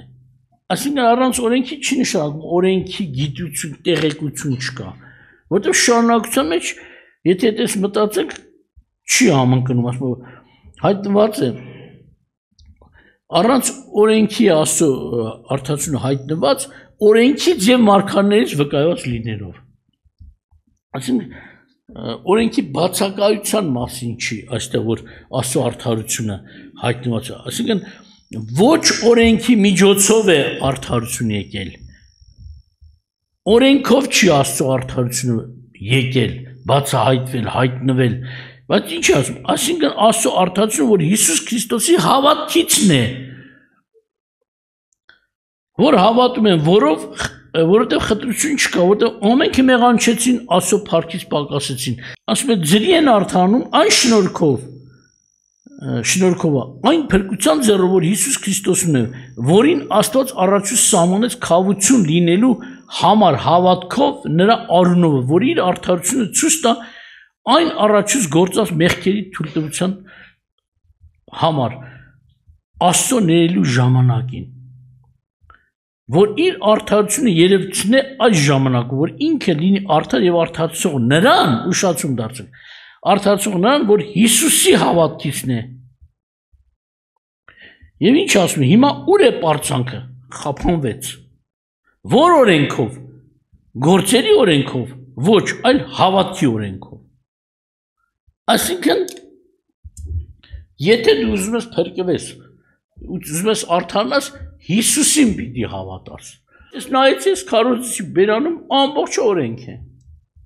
Այսինքն առանց օրենքի չի նշանակում օրենքի գիտություն, տեղեկություն չկա։ Որտեղ շարունակության մեջ, եթե այդպես մտածեք, չի համընկնում, ասում հայտնված է առանց օրենքի Աստծո արդարությունը հայտնված օրենքից եւ մարգարեներից վկայված լինելով։ Այսինքն օրենքի բացակայության մասին չի այստեղ որ Աստծո արդարությունը հայտնված է, այսինքն ոչ օրենքի միջոցով է արդարություն եկել, օրենքով չի Աստծո արդարությունը եկել, բացահայտվել, հայտնվել, բայց ինչ ասում, այսինքն Աստծո արդարությունը որ Հիսուս Քրիստոսի հավատքիցն է, որ հավատում են, որովհետև խտրություն չկա, որովհետև ամենքը մեղանչեցին, Աստծո փառքից պակասեցին։ Ասում է ձրի են արդարանում այն շնորհքով, այն փրկության ձեռով, որ Հիսուս Քրիստոսն է, որին Աստված առաջուց սահմանեց քավություն լինելու համար հավատքով նրա արունով, որ իր արդարությունը ցույց տա այն առաջուց գործած մեղքերի թույլտվության համար Աստծո ներելու ժամանակին, որ իր արդարությունը երևցնե այս ժամանակում, որ ինքը լինի արդար եւ արդարացող նրան, ուշացում դարձեք, արդարացող նրան, որ Հիսուսի հավատքիցն է։ Եվ ինչ ասում է, հիմա ուր է պարծանքը, խափանվեց, որ օրենքով, գործերի օրենքով, ոչ, այլ հավատքի օրենքով։ Այսինքն, եթե դու ուզում ես փրկվես, ուզում ես արդարանաս, Հիսուսին պիտի հավատաս։ Ես նայեցի քարոզիչի բերանում ամբողջ օրենք է։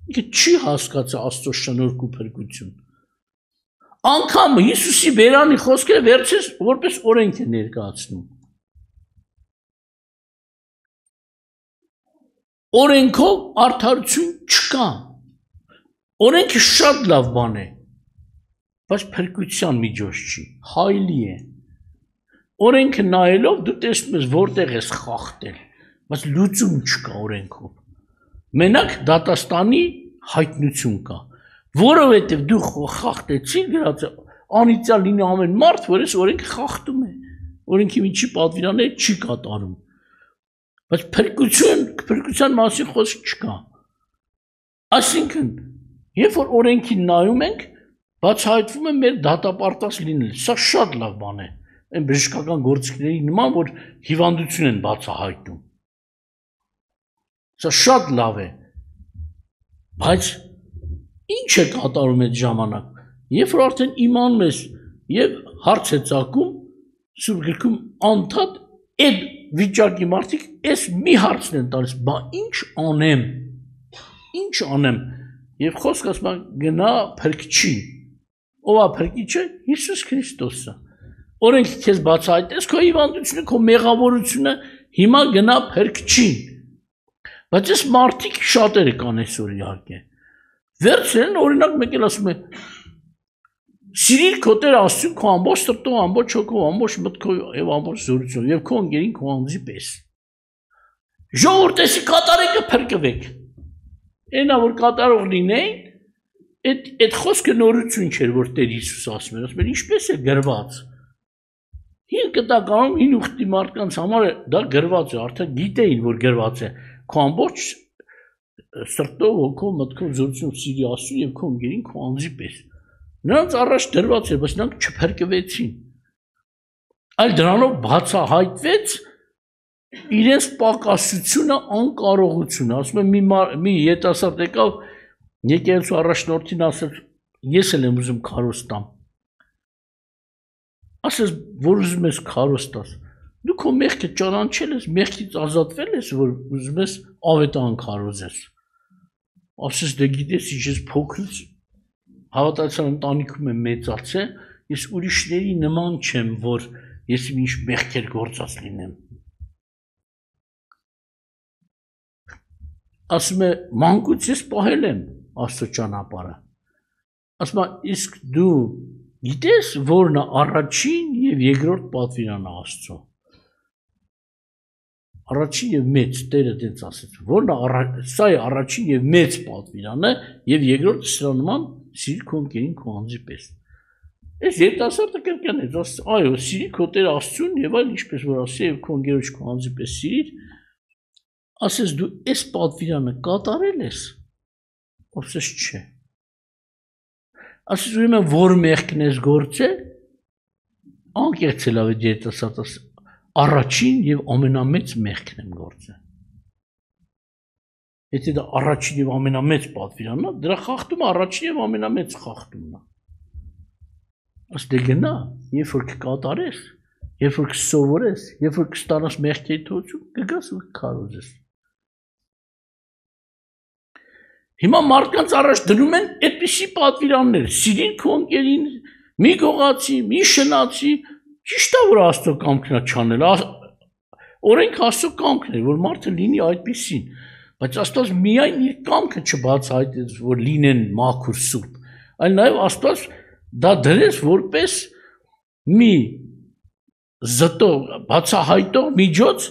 Ինքը չի հասկացա Աստծո շնորհք ու փրկություն։ Անկամ Հիսուսի բերանի խոսքերը վերցես որպես օրենք է ներկայացնում։ Օրենքով արդարություն չկա։ Օրենքը շատ լավ բան է, բայց փրկության միջոց չի, հայլի է։ Օրենքը նայելով դու տեսնում ես որտեղ ես խախտել, բայց լուծում չկա օրենքով։ Մենակ դատաստանի հայտնություն կա, որովհետև դու խախտեցիր գրած անիծյալ լինի ամեն մարդ, որ այս օրենքը խախտում է, օրենքի միջի պատվիրանները չի կատարում, բայց փրկության մասին խոսք չկա։ Այսինքն, երբ որ օրենքին նայում ենք, բացահայտվում է մեր դատապարտած լինել, սա շատ լավ բան է։ Այն բժշկական գործիքների նման, որ հիվանդություն են բացահայտում։ Սա շատ լավ է, բայց ինչ է կատարում այդ ժամանակ, երբ որ արդեն իմանում ես և հարց է ծագում, Սուրբ գրքում անդադ այդ վիճակի մարդիկ այս մի հարցն են տալիս, բա ինչ անեմ, և խոսք ասում են գնա փրկչին, ով է փրկիչը, Հիսուս Քրիստոսը։ Օրենքը քեզ բացահայտեց քո հիվանդությունը, քո մեղավորությունը, հիմա գնա փրկչին։ Բայց այս մարդիկ շատերը կան այսօր իհարկե։ Վերցրեն օրինակ մեկ էլ ասում է սիրիր քո Տեր Աստծուն քո ամբողջ սրտով, ամբողջ հոգով, ամբողջ մտքով եւ ամբողջ զորությամբ եւ քո ընկերին քո անձի պես։ Ժողովուրդի կատարեկը փրկվեք։ Այնա որ կատարող լինեին, այդ խոսքը նորություն չէր, որ Տեր Հիսուս ասում էր, ինչպես է գրված։ Հին կտականում հին ուխտի մարդկանց համար դա գրված է, արդեն գիտեին, որ գրված է, քո ամբողջ սրտով, հոգով, մտքով, զորությամբ սիրի Աստծուն եւ քո ընկերին քո անձի պես։ Նրանց առաջ դրված էր, բայց նրանք չփրկվեցին։ Այլ դրանով բացահայտվեց իրենց պակասությունը, անկարողությունը։ Ասում եմ մի ետասարդ եկավ եկեղեցու առաջնորդին ասել, ես էլ եմ ուզում քարոզ տամ։ Ասես, որ ուզում ես քարոզ տաս։ Դու քո մեղքը ճանաչել ես, մեղքից ազատվել ես, որ ուզում ես ավետարան քարոզես։ Ասես դե գիտես, ինչ ես փոքրից հավատացյալ ընտանիքում եմ մեծացել, ես ուրիշների նման չեմ, որ ես ինչ մեղքեր գործած լինեմ։ Ասում է մանկուց ես պահել եմ Աստծո ճանապարհը։ Ասում է իսկ դու գիտես որն է առաջին եւ երկրորդ պատվիրանը Աստծո։ Առաջին եւ մեծ Տերը դից ասեց, որն է սա է առաջին եւ մեծ պատվիրանը եւ երկրորդը սրա նման սիրի քո ընկերին քո անձի պես։ Այս երիտասարդը կրկնեց, այո, սիրի քո Տեր Աստծուն եւ այլ ինչպես որ ասի եւ քո ընկերոջ քո անձի պես սիրիր, ասես դու այս պատվիրանը կատարել ես, ասես չէ։ Ասես ուրեմն որ մեղքն ես գործել, անկեղծ լավ է երիտասարդը առաջին եւ ամենամեծ մեղքն եմ գործել։ Եթե դա առաջին եւ ամենամեծ պատվիրանն է, դրա խախտումը առաջին եւ ամենամեծ խախտումն է։ Աստե գնա, երբ որ կկատարես, երբ որ կսովորես, երբ որ կստանաս մեղքերի թողություն, կգաս ու կքարոզես։ Հիմա մարդկանց առաջ դնում են այդպիսի պատվիրաններ, սիրին քո ընկերին, մի գողացի, մի շնացի, ճիշտ է որ Աստծո կամքն է չանել, օրենք Աստծո կամքն է, որ մարդը լինի այդպիսին, բայց Աստված միայն իր կամքը չբացահայտեց, որ լինեն մաքուր սուրբ, այլ նաև Աստված դա դրեց որպես մի զտող, բացահայտող միջոց,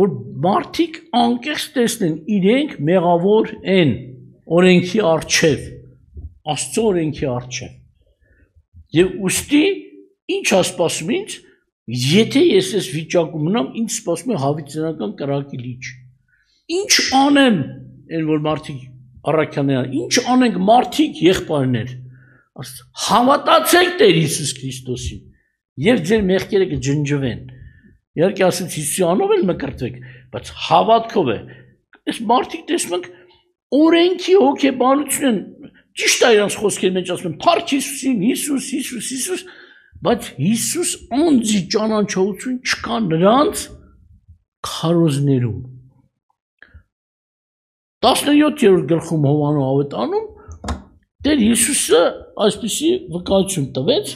որ մարդիկ անկեղծ տեսնեն իրենք մեղավոր են օրենքի առջև, Աստծո օրենքի առջև։ Եվ ուստի ինչ է սպասում ինձ, եթե ես այս վիճակում մնամ, ինձ սպասում է հավիտենական կրակի լիճ։ Ինչ անեմ, այն որ մարդիկ առաքյաներ, ինչ անենք մարդիկ եղբայրներ, հավատացեք Տեր Հիսուս Քրիստոսին եւ ձեր մեղքերը կջնջվեն։ Իհարկե ասած Հիսուսի անով էլ մկրտվեք, բայց հավատքով է։ Այս մարդիկ տեսնում ենք օրենքի հոգեբանություն են, ճիշտ է իրանց խոսքերի մեջ ասում են, փառք Հիսուսին, Հիսուս, Հիսուս, Հիսուս, բայց Հիսուս անձի ճանաչողություն չկա նրանց քարոզներում։ 17-րդ գլխում Հովանու ավետանում Տեր Հիսուսը այսպիսի վկայություն տվեց,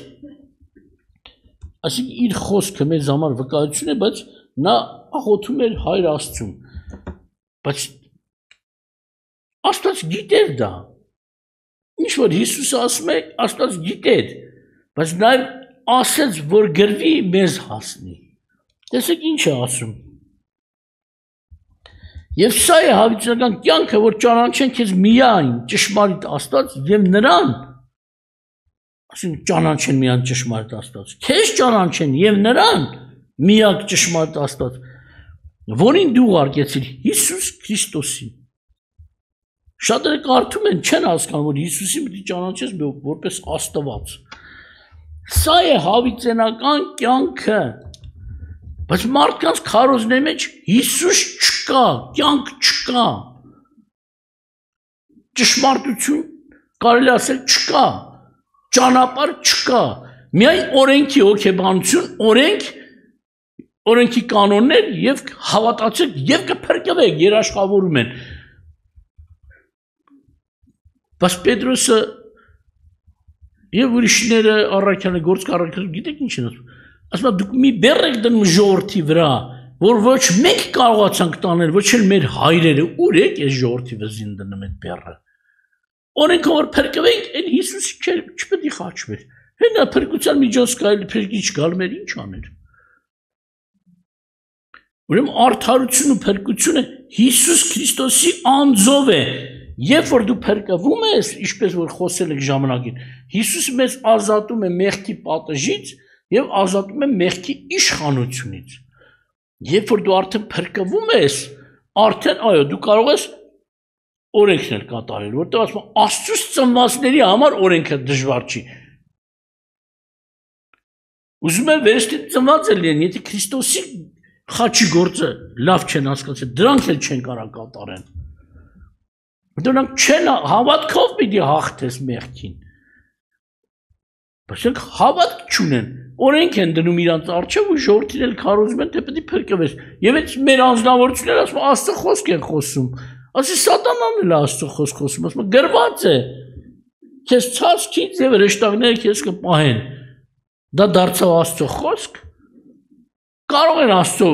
այսինքն իր խոսքը մեզ համար վկայություն է, բայց նա աղոթում էր Հայր Աստծուն։ Բայց Աստված գիտեր դա։ Ինչ որ Հիսուսը ասում է, Աստված գիտեր, բայց նաև ասեց, որ գրվի մեզ հասնի։ Տեսեք ինչ է ասում։ Եվ սա է հավիտենական կյանքը, որ ճանաչեն քեզ միայն ճշմարիտ Աստված եւ նրան, ասենք ճանաչեն միայն ճշմարիտ Աստված, քեզ ճանաչեն եւ նրան միակ ճշմարիտ Աստված, որին դու ուղարկեցիր Հիսուս Քրիստոսին։ Շատերը կարդում են, չեն հասկանում, որ Հիսուսին պիտի ճանաչես որպես Աստված։ Սա է հավիտենական կյանքը, բայց մարդկանց քարոզների մեջ Հիսուս չկա, կյանք չկա, ճշմարտություն կարելի ասել չկա, ճանապարհ չկա, միայն օրենքի հոգեբանություն, օրենքի կանոններ եւ հավատացեք եւ կփրկվեք, երաշխավորում են։ Բայց Պետրոսը եւ ուրիշները առաքյալը գործ կառաքել, գիտեք ինչ են ասում։ Ասում են դուք մի բեռ եք դնում ժողովրդի վրա, որ ոչ մենք կարողացանք տանել, ոչ էլ մեր հայրերը, ուր եք այս ժողովրդի վզին դնում այդ բեռը։ Օրենքը որ փրկվենք, այն Հիսուսը չպետք է խաչվեր։ Հենա փրկության միջոց կարելի փրկիչ գալ մեր ինչ աներ։ Ուրեմն արդարություն ու փրկությունը Հիսուս Քրիստոսի անձով է։ Երբ որ դու փրկվում ես, ինչպես որ խոսել եք ժամանակին, Հիսուսը մեզ ազատում է մեղքի պատժից եւ ազատում է մեղքի իշխանությունից։ Երբ որ դու արդեն փրկվում ես, արդեն այո, դու կարող ես օրենքն էլ կատարել, որտեղ ասում են Աստծուց ծնվածների համար օրենքը դժվար չի։ Ուզում եմ վերստին ծնված լինեն, եթե Քրիստոսի խաչի գործը լավ չեն հասկացել, դրանք էլ չեն կարող կատարեն։ Դրանք չեն հավատքով պիտի հաղթես մեղքին։ Բայց նրանք հավատք չունեն, օրենք են դնում իրանց առջև ու ժողովրդին էլ քարոզում են, թե պետք է փրկվես։ Եվ այդ մեր անձնավորությունները ասում են Աստծո խոսք են խոսում։ Ասի սատանան էլ Աստծո խոսք խոսում, ասում է գրված է։ քեզ ցածքից եւ հրեշտակները քեզ կպահեն։ Դա դարձավ Աստծո խոսք։ Կարող են Աստծո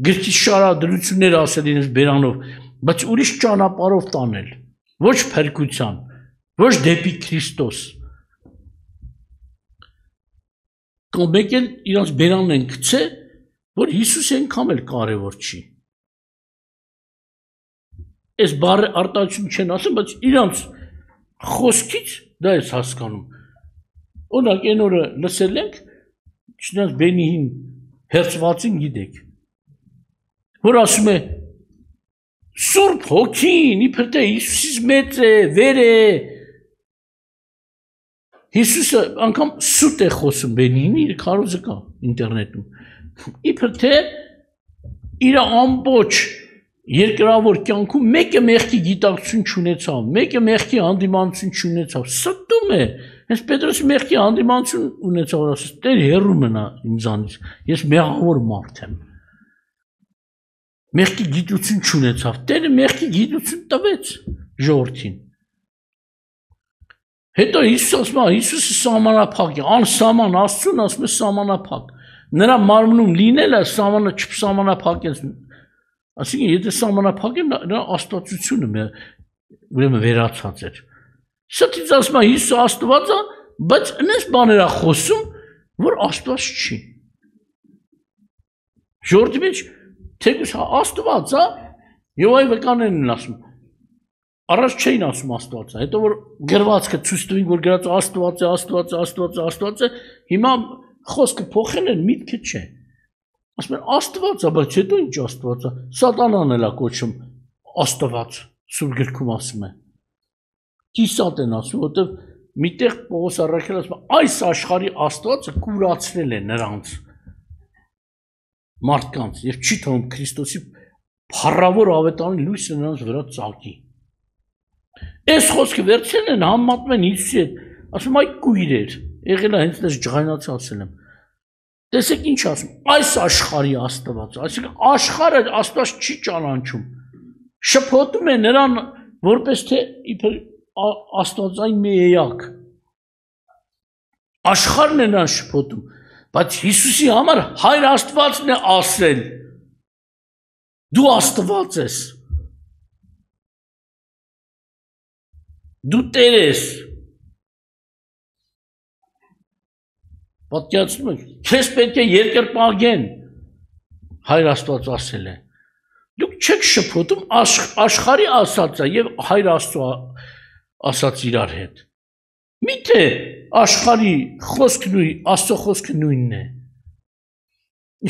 գրքի շարադրություններ ասել իրենց բերանով, բայց ուրիշ ճանապարհով տանել, ոչ փրկության, ոչ դեպի Քրիստոս։ Կամ մեկ էլ իրենց բերանն են գցե, որ Հիսուսը այնքան էլ կարևոր չի։ Այս բառը արտահայտություն չեն ասում, բայց իրենց խոսքից դա է հասկանում։ Օրինակ այն օրը լսել ենք, չնայած Բենիհին հերցվածին գիտեք, որ ասում է Սուրբ Հոգին, իբր թե Հիսուսից մեծ է, վեր է։ Հիսուսը անգամ սուտ է խոսում Բենիհինի, իր քարոզը կա ինտերնետում։ Իբր թե իր ամբողջ երկրավոր կյանքում մեկը մեղքի գիտակցություն չունեցավ, մեկը մեղքի հանդիմանություն չունեցավ, ստում է։ Հենց Պետրոսի մեղքի հանդիմանություն ունեցավ, ասես, Տեր հեռու մնա ինձանից, ես մեղավոր մարդ եմ։ Մեղքի գիտություն չունեցավ, Տերը մեղքի գիտություն տվեց ժողովրդին։ Հետո Հիսուս ասում է, Հիսուսը սահմանափակ է, անսահման Աստծուն ասում է սահմանափակ։ Նրա մարմնում լինելը չսահմանափակ է։ Այսինքն, եթե սահմանափակ է, նրա աստվածությունը ուրեմն վերացած էր։ Սա ասում է Հիսուսը Աստված է, բայց այնպես բաներ է խոսում, որ Աստված չի։ Ժողովրդի մեջ թեկուզ Աստված է, եւ այ վկաներն են ասում։ Առաջ չէին ասում Աստված է, հետո որ գրվածքը ցույց տվին, որ գրած Աստված է, Աստված է, Աստված է, Աստված է, հիմա խոսքը փոխել են, միտքը չէ։ Ասում են Աստված է, բայց հետո ինչ Աստված է։ Սատանան էլ է կոչում Աստված, Սուրբ գրքում ասում է։ Կիսատ են ասում, որտեղ միտեղ Պողոս առաքյալը ասում է, այս աշխարհի Աստվածը կուրացրել է նրանց մարդկանց եւ չի թվում Քրիստոսի փառավոր ավետարանի լույսը նրանց վրա ծագի։ Այս խոսքը վերցրել են համեմատում են Հիսուսի հետ, ասում այ կույրեր, եղել է հենց դες ջղայնացի ասել եմ։ Տեսեք ինչ ասում, այս աշխարհի Աստված, այսինքն աշխարհը Աստված չի ճանաչում։ Շփոթում է նրան որպես թե իբր Աստվածային մի էակ։ Աշխարհն է նրան շփոթում, բայց Հիսուսի համար Հայր Աստվածն է ասել. Դու Աստված ես։ Դու Տեր ես։ Պատկերացնում եք, քեզ պետք է երկրպագեն, Հայր Աստված ասել է։ Դուք չեք շփոթում աշխարհի ասածը եւ Հայր Աստծո ասած իրար հետ։ Միթե աշխարհի խոսքն ու Աստծո խոսքը նույնն է։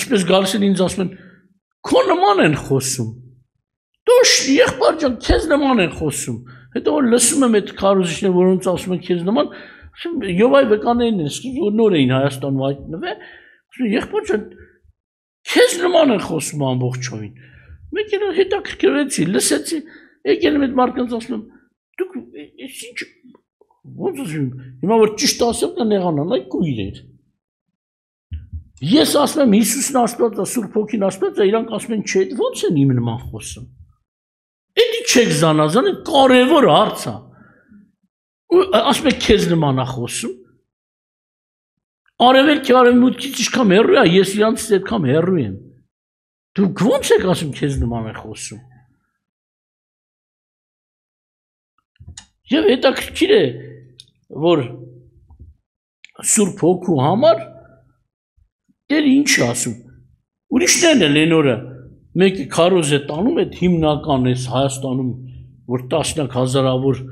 Ինչպես գալիս են ինձ ասում են, քո նման են խոսում։ Դու եղբայր ջան, քեզ նման են խոսում։ Հետո որ լսում եմ այդ քարոզիչները, որոնց ասում են քեզ նման, եւ այ վկաներն են, սկիզբ որ նոր էին Հայաստանում հայտնվել, ասում եղբայր ջան, քեզ նման են խոսում ամբողջովին։ Մեկ էլ հետաքրքրվեցի, լսեցի, եկել եմ այդ մարդկանց ասում եմ, դուք ինչ ոնց ասում, հիմա որ ճիշտ ասեմ, դա նեղանան, այ կույրեր։ Ես ասում եմ Հիսուսն Աստված է, Սուրբ Հոգին Աստված է, իրանք ասում են չէ, ոնց են իմ նման խոսում։ Էդի չեք զանազան, կարևոր հարց է։ Ասում եք քեզ նման է խոսում։ Արևելքի արևմուտքից ինչքան հեռու է, ես իրանցից այդքան հեռու եմ։ Դուք ոնց եք ասում քեզ նման է խոսում։ Եվ հետաքրքիր է, որ Սուրբ Հոգու համար Տերը ինչ է ասում։ Ուրիշներն էլ են օրը մեկը քարոզ է տանում, այդ հիմնական է Հայաստանում, որ տասնյակ հազարավոր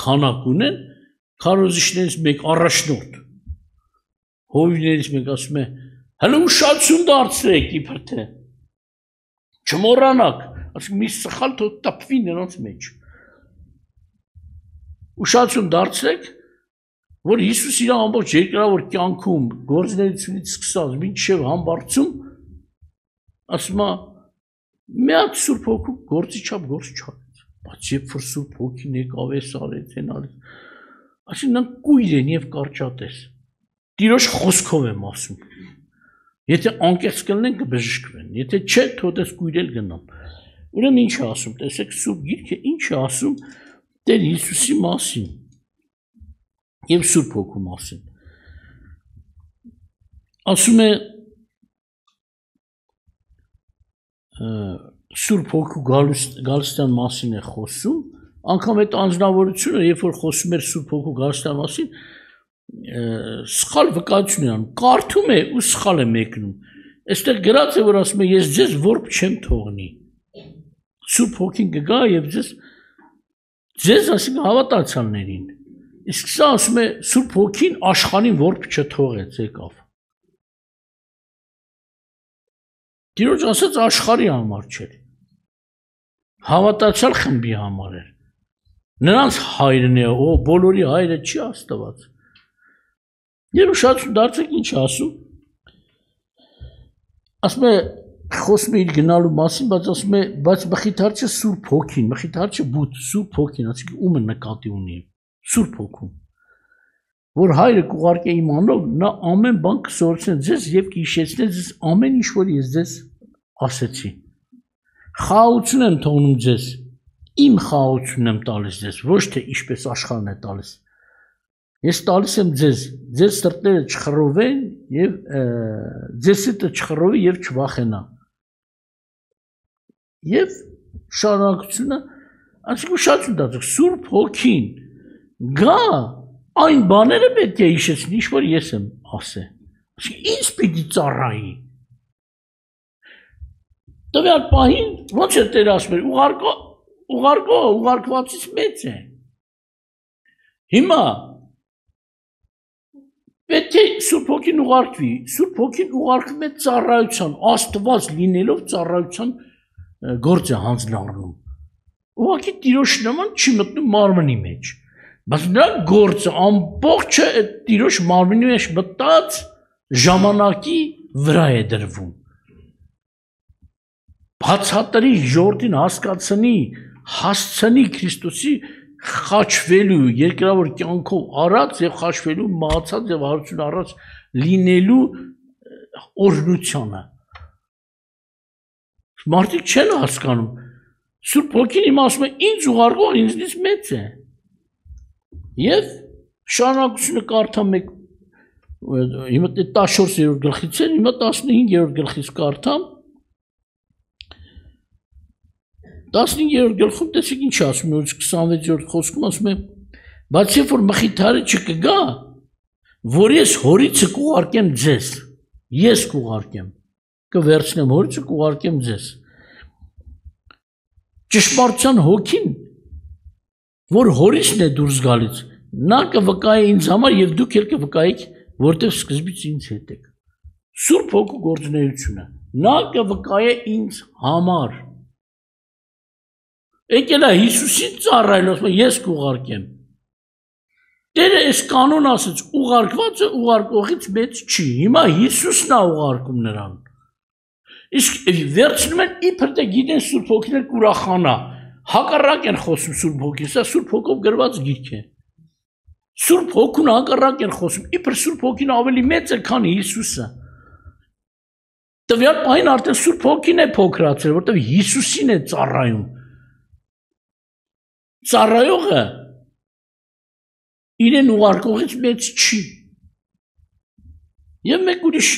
քանակ ունեն, քարոզիչներից մեկ առաջնորդ։ Հովիվներից մեկ ասում է, հələ ուշադրություն դարձրեք իբր թե։ Չմոռանաք, ասում մի սխալ թող տպվի նրանց մեջ։ Ուշադրություն դարձրեք, որ Հիսուս իր ամբողջ երկրավոր կյանքում գործունեությունից սկսած մինչև համբարձում ասում է մի հատ Սուրբ Հոգու գործի չափ գործ չարեց, բայց երբ որ Սուրբ Հոգին եկավ էս արեց, այն արեց, այսինքն նրանք կույր են եւ կարճատես։ Տիրոջ խոսքով եմ ասում։ Եթե անկեղծ կլինեն կբժշկվեն, եթե չէ, թողես կույրել գնան։ Ուրեմն ինչ է ասում, տեսեք Սուրբ Գիրքը ինչ է ասում Տեր Հիսուսի մասին։ եւ Սուրբ Հոգու մասին։ Ասում է Սուրբ Հոգու գալստյան մասին է խոսում, անգամ այդ անձնավորությունը, երբ որ խոսում էր Սուրբ Հոգու գալստյան մասին, սխալ վկայություն է անում, կարդում է ու սխալ է մեկնում։ Այստեղ գրած է, որ ասում է ես ձեզ որբ չեմ թողնի։ Սուրբ Հոգին կգա եւ ձեզ ասենք հավատացյալներին։ Իսկ սա ասում է Սուրբ Հոգին աշխարհին որբ չթողեց, եկավ։ Տիրոջ ասած աշխարհի համար չէր։ Հավատացյալ խմբի համար էր։ Նրանց հայրն է, բոլորի հայրը չի Աստված։ Երուշացու դարձեք ինչ ասում։ Ասում է խոսում է իր գնալու մասին, բայց ասում է, բայց մխիթարչը Սուրբ Հոգին, մխիթարչը բութ, Սուրբ Հոգին, ասենք ում է նկատի ունի, Սուրբ Հոգուն, որ հայրը կուղարկե իմ անով, նա ամեն բան կսորցնի ձեզ եւ կհիշեցնի ձեզ ամեն ինչ, որ ես ձեզ ասեցի։ Խաղաղություն եմ թողնում ձեզ, իմ խաղաղությունն եմ տալիս ձեզ, ոչ թե ինչպես աշխարհն է տալիս։ Ես տալիս եմ ձեզ, ձեր սրտերը չխռովեն եւ ձեր սրտը չխռովի եւ չվախենա։ Եվ շարունակությունը, այսինքն շատ ուտածք, Սուրբ Հոգին գա այն բաները պետք է հիշեցնի, ինչ որ ես եմ ասել։ Այսինքն ինձ պիտի ծառայի։ Տվյալ պահին ոնց է Տերը ասում էր, ուղարկվածից մեծ է։ Հիմա պետք է Սուրբ Հոգին ուղարկվի, Սուրբ Հոգին ուղարկվում է ծառայության, Աստված լինելով ծառայության գործ է հանձնարարում։ Ուղղակի Տիրոջ նման չի մտնում մարմնի մեջ, բայց նրա գործը ամբողջը այդ Տիրոջ մարմնի մեջ մտած ժամանակի վրա է դրվում։ Բացատրի ժողովրդին հասկացնի, հասցնի Քրիստոսի խաչվելու, երկրավոր կյանքով առած եւ խաչվելու, մահացած եւ հարություն առած լինելու օրհնությանը։ Մարդիկ չեն հասկանում։ Սուրբ Հոգին իմ ասում է, ինձ ուղարկող ինձնից մեծ է։ Եվ շարունակությունը կարդամ մեկ, հիմա 14-րդ գլխից է, հիմա 15-րդ գլխից կարդամ։ 15-րդ գլխում տեսեք ինչ ասում է, 26-րդ խոսքում ասում է, բայց երբ որ մխիթարը չկգա, որ ես հորիցը կուղարկեմ ձեզ, ես կուղարկեմ, կվերցնեմ հորիցը կուղարկեմ ձեզ։ Ճշմարտության Հոգին, որ հորիցն է դուրս գալիս, նա կվկայի ինձ համար եւ դուք էլ կվկայիք, որտեղ սկզբից ինձ հետ եք։ Սուրբ Հոգու գործունեությունը, նա կվկայե ինձ համար։ Եկել է Հիսուսին ծառայել, ասում է ես կուղարկեմ։ Տերը այս կանոն ասեց, ուղարկվածը ուղարկողից մեծ չի։ Հիմա Հիսուսն է ուղարկում նրան։ Իսկ վերցնում են իբր թե գիտեն Սուրբ Հոգին կուրախանա։ Հակառակ են խոսում Սուրբ Հոգին, սա Սուրբ Հոգով գրված գիրք է։ Սուրբ Հոգուն հակառակ են խոսում, իբր Սուրբ Հոգին ավելի մեծ է, քան Հիսուսը։ Տվյալ պահին արդեն Սուրբ Հոգին է փոքրացել, որտեղ Հիսուսին է ծառայում։ Ծառայողը իրեն ուղարկողից մեծ չի։ Եվ մեկ ուրիշ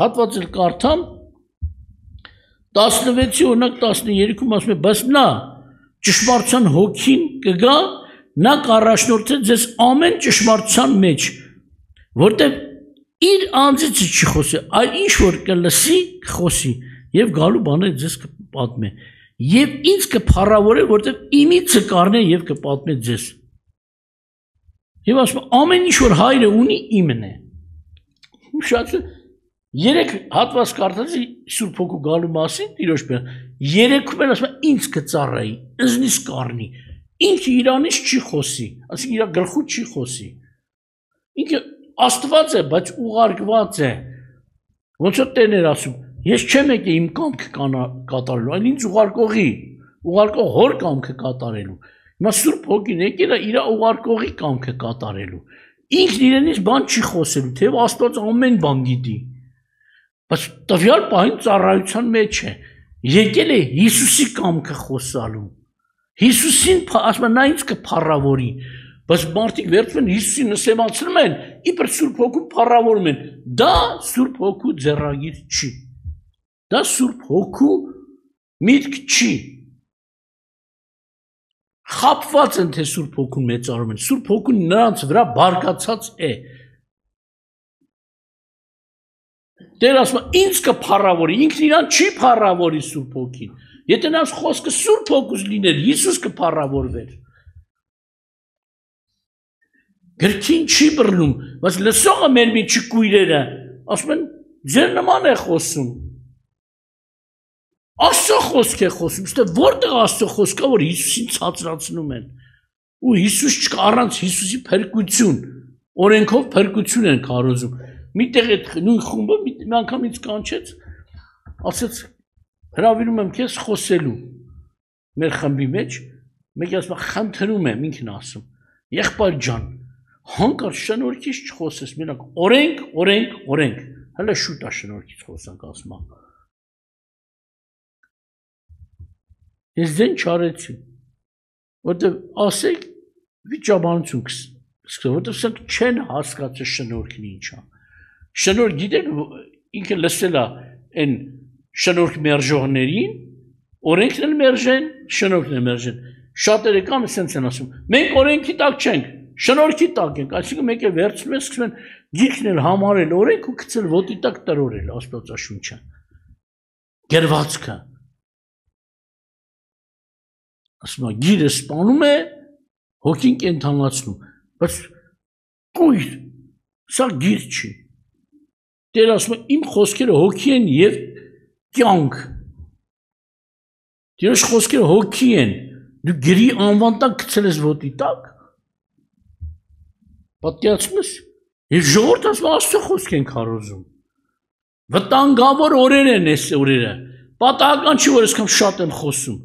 հատված էլ կարդամ 16-ի օրինակ 13-ում ասում է, բայց նա ճշմարտության Հոգին կգա, նա կառաջնորդի ձեզ ամեն ճշմարտության մեջ, որտեղ իր անձից չի խոսի, այլ ինչ որ կլսի, կխոսի եւ գալու բաները ձեզ կպատմի։ Եվ ինձ կփառավորե, որտեղ իմիցը կառնե եւ կպատմի ձեզ։ Եվ ասում ամեն ինչ որ հայրը ունի իմն է։ Շատ 3 հատված կարդացի Սուրբ Հոգու գալու մասին, Տիրոջ բան։ 3-ում էլ ասում ինձ կծառայի, ինձնից կառնի։ Ինքը իրանից չի խոսի, ասենք իր գլխու չի խոսի։ Ինքը Աստված է, բայց ուղարկված է։ Ոնց որ Տերն էր ասում, ես չեմ եկել իմ կամքը կատարելու, այլ ինձ ուղարկող հոր կամքը կատարելու։ Հիմա Սուրբ Հոգին եկել է իր ուղարկողի կամքը կատարելու։ Ինքն իրենից բան չի խոսելու, թեև Աստված ամեն բան գիտի։ Բայց տվյալ պահին ծառայության մեջ է։ Եկել է Հիսուսի կամքը խոսալու։ Հիսուսին ասում նա ինձ կփառավորի, Բայց մարդիկ վերցնում են Հիսուսին նսեմացնում են, իբր Սուրբ Հոգու փառավորում են։ Դա Սուրբ Հոգու ձեռագիր չի։ Դա Սուրբ Հոգու միտք չի։ Խապված են, թե Սուրբ Հոգուն մեծարում են։ Սուրբ Հոգուն նրանց վրա բարգացած է։ Տեր ասում է, ինձ կփառավորի, ինքն իրան չի փառավորի Սուրբ Հոգին։ Եթե նրանց խոսքը Սուրբ Հոգուց լիներ, Հիսուս կփառավորվեր։ Գրքին չի բռնում, բայց լսողը մեր միջի կույրերը, ասում են, ձեր նման է խոսում։ Աստծո խոսք է խոսում, ստե որտեղ Աստծո խոսքա, որ Հիսուսին ցածրացնում են։ Ու Հիսուս չկա, առանց Հիսուսի փրկություն, օրենքով փրկություն են քարոզում։ Միտեղ այդ նույն խումբը մի անգամ ինձ կանչեց, ասեց, հրավիրում եմ քեզ խոսելու մեր խմբի մեջ, մեկը ասում է, խնդրում եմ, ինքն ասում, եղբայր ջան, հանկարծ շնորհքից չխոսես, մենակ օրենք, հələ շուտ է շնորհքից խոսանք ասում եմ։ Ես դեն չարեցի, որտեղ ասեք վիճաբանություն սկսել, որտեղ սրանք չեն հասկացել շնորհքն ինչ է։ Շնորհք գիտեք, ինքը լսել է այն շնորհք մերժողներին, օրենքն էլ մերժեն, շնորհքն էլ մերժեն։ Շատերը կան ասենց են ասում, մենք օրենքի տակ չենք, շնորհքի տակ ենք, այսինքն մեկ է վերցնում են, սկսում են գիրքն էլ համարել օրենք ու գցել ոտի տակ տրորել Աստվածաշունչը։ Գրվածքը։ Ասում է, գիրը սպանում է, հոգին կենդանացնում, բայց կույր, սա գիր չի։ Տեր ասում է, իմ խոսքերը հոգի են և կյանք։ Տիրոջ խոսքերը հոգի են, դու գրի անվան տակ գցել ես ոտի տակ, պատկերացնում ես, և ժողովուրդը ասում է, Աստծո խոսք են քարոզում։ Վտանգավոր օրեր են այս օրերը, պատահական չի, որ այսքան շատ եմ խոսում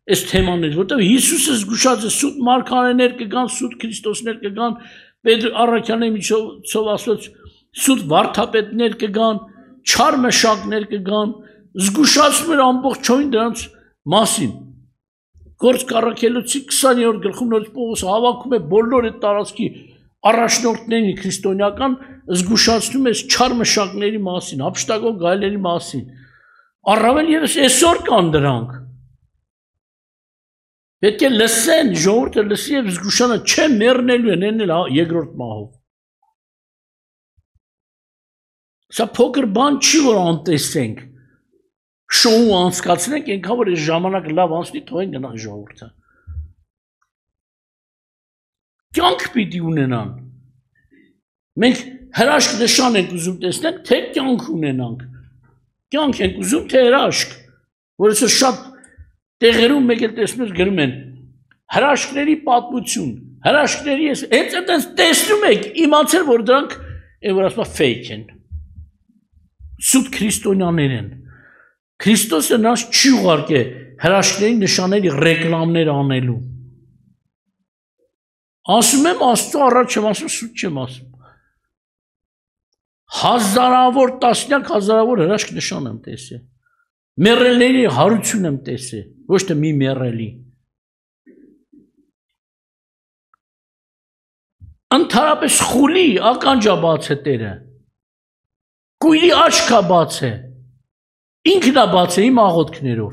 այս թեմանից, որտեղ Հիսուսը զգուշած է, սուտ մարգարեներ կգան, սուտ Քրիստոսներ կգան, Պետր Առաքյալների միջոցով ասված սուտ վարդապետներ կգան, չար մշակներ կգան, զգուշացնում էր ամբողջովին դրանց մասին։ Գործ Առաքելոցի 20-րդ գլխում նորից Պողոսը հավաքում է բոլոր այդ տարածքի առաջնորդներին քրիստոնեական, զգուշացնում է չար մշակների մասին, հափշտակող գայլերի մասին։ Առավել ևս այսօր կան դրանք։ Պետք է լսեն, ժողովուրդը լսի և զգուշանա, չէ մեռնելու են, են էլ երկրորդ մահով։ Սա փոքր բան չի, որ անտեսենք, շոու անցկացնենք, ենքան որ այս ժամանակ լավ անցնի, թողեն գնան ժողովուրդը։ Կյանք պիտի ունենան։ Մենք հրաշք նշան ենք ուզում տեսնենք, թե կյանք ունենանք։ Կյանք ենք ուզում, թե հրաշք, որ այսօր շատ տեղերում մեկ էլ տեսնում ես գրում են հրաշքների պատմություն, հրաշքների ես, հենց այդպես տեսնում եք, իմացել, որ դրանք, որ ասում է fake են, սուտ քրիստոնյաներ են։ Քրիստոսը նրանց չի ուղարկե հրաշքների նշանների ռեկլամներ անելու։ Ասում եմ Աստծո առաջ չեմ ասում, սուտ չեմ ասում։ Հազարավոր, տասնյակ հազարավոր հրաշք նշան եմ տեսել։ Մեռելների հարություն եմ տեսել, ոչ թե մի մեռելի։ Ընդհանրապես խուլի ականջա բաց է Տերը։ Կույրի աչքա բաց է։ Ինքն է բաց է իմ աղոթքներով։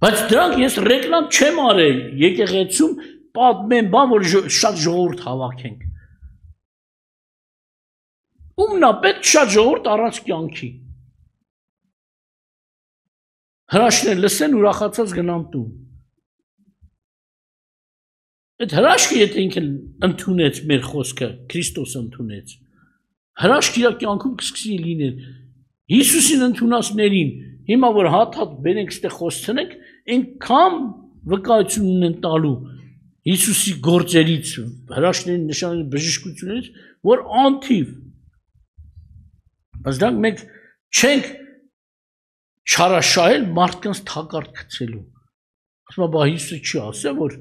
Բայց դրանք ես ռեկլամ չեմ արել եկեղեցում պատմեմ բան, որ շատ ժողովուրդ հավաքենք։ Ումն է պետք շատ ժողովուրդ առանց կյանքի։ Հրաշքներ լսեն ուրախացած գնան տուն։ Այդ հրաշքը եթե ինքը ընդունեց մեր խոսքը, Քրիստոսը ընդունեց, հրաշք իր կյանքում կսկսի լինել։ Հիսուսին ընդունածներին, հիմա որ հատ-հատ բերենք ստեղ խոսցնենք, այնքան վկայություն են տալու Հիսուսի գործերից, հրաշքների նշանների բժշկություններից, որ անթիվ։ Բայց դրանք մենք չենք չարաշահել մարդկանց թակարդ գցելու։ Ասում է, բա Հիսուսը չի ասել, որ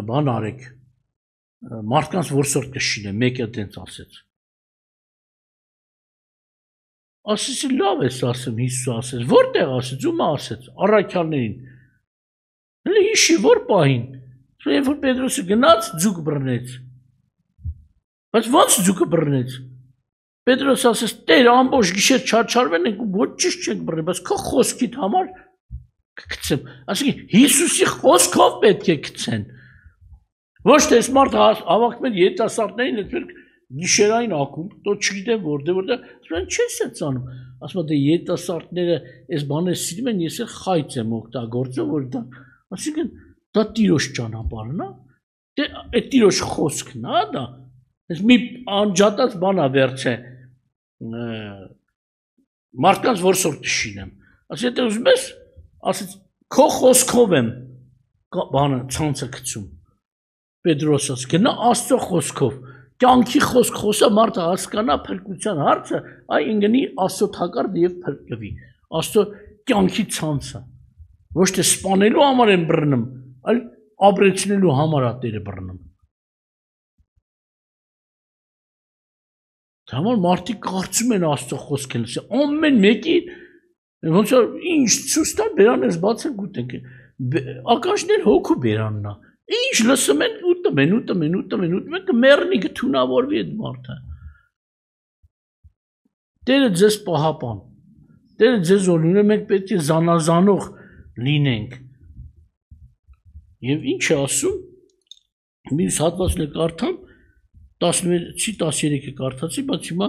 բան արեք, մարդկանց որսորդ կշինե, մեկը դենց ասեց։ Ասեցի, լավ ես ասեմ, Հիսուսը ասեց, որտեղ ասեց, ում ասեց, առաքյալներին։ Հələ հիշի, որ պահին, Երբ որ Պետրոսը գնաց, ձուկ բռնեց։ Բայց ո՞նց ձուկը բռնեց։ Պետրոսը ասաց. «Տեր, ամբողջ գիշեր չարչարվել ենք ու ոչ ճիշտ չենք բռնել, բայց քո խոսքիդ համար կգցեմ»։ Այսինքն Հիսուսի խոսքով պետք է գցեն։ Ոչ թե այս մարդը հավաքվում են երիտասարդներին, այդպես գիշերային ակումբ, դու չգիտեմ որտեղ, ասում չես անում։ Ասում է դե երիտասարդները այս բաները սիրում են, ես էլ խայծ եմ օգտագործում, որ դա, այսինքն դա Տիրոջ ճանապարհն է, դե այդ Տիրոջ խոսքն է դա։ Այս մի անջատած բան է վերջը մարդկանց որսոր տշինեմ։ Ասի եթե ուզում ես, ասեց քո խոսքով եմ բանը ցանցը գցում։ Պետրոսը գնա Աստծո խոսքով, կյանքի խոսք խոսա մարդը հասկանա փրկության հարցը, այ ինգնի Աստծո թակարդ եւ փրկվի։ Աստծո կյանքի ցանցը։ Ոչ թե սպանելու համար են բռնում, այլ ապրեցնելու համար է Տերը բռնում։ Համար մարդիկ կարծում են Աստծո խոսքը լսել, ամեն մեկի ոնց որ ինչ ցույց տա բերան ես բացել գուտենք, ականջներ հոգու բերանն է, ինչ լսում են ուտում են, կմեռնի կթունավորվի այդ մարդը։ Տերը ձեզ պահապան, Տերը ձեզ օրհնում, մենք պետք է զանազանող լինենք։ Եվ ինչ է ասում, մյուս հատվածն է կարդամ, 16-ի 13-ը կարդացի, բայց հիմա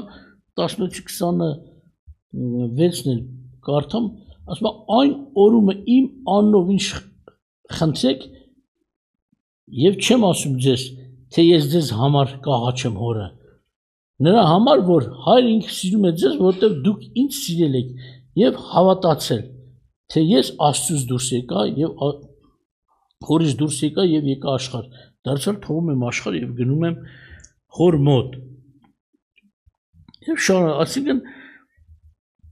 16-26-ն էլ կարդամ, ասում է այն օրումը իմ անունով ինչ խնդրեք եւ չեմ ասում ձեզ, թե ես ձեզ համար կաղաչեմ հորը։ Նրա համար, որ հայր ինքը սիրում է ձեզ, որովհետեւ դուք ինձ սիրել եք եւ հավատացել, թե ես Աստծուց դուրս եկա եւ հորից դուրս եկա եւ եկա աշխարհ։ Դարձյալ թողում եմ աշխարհ եւ գնում եմ հոր մոտ։ Եվ շարունակ, այսինքն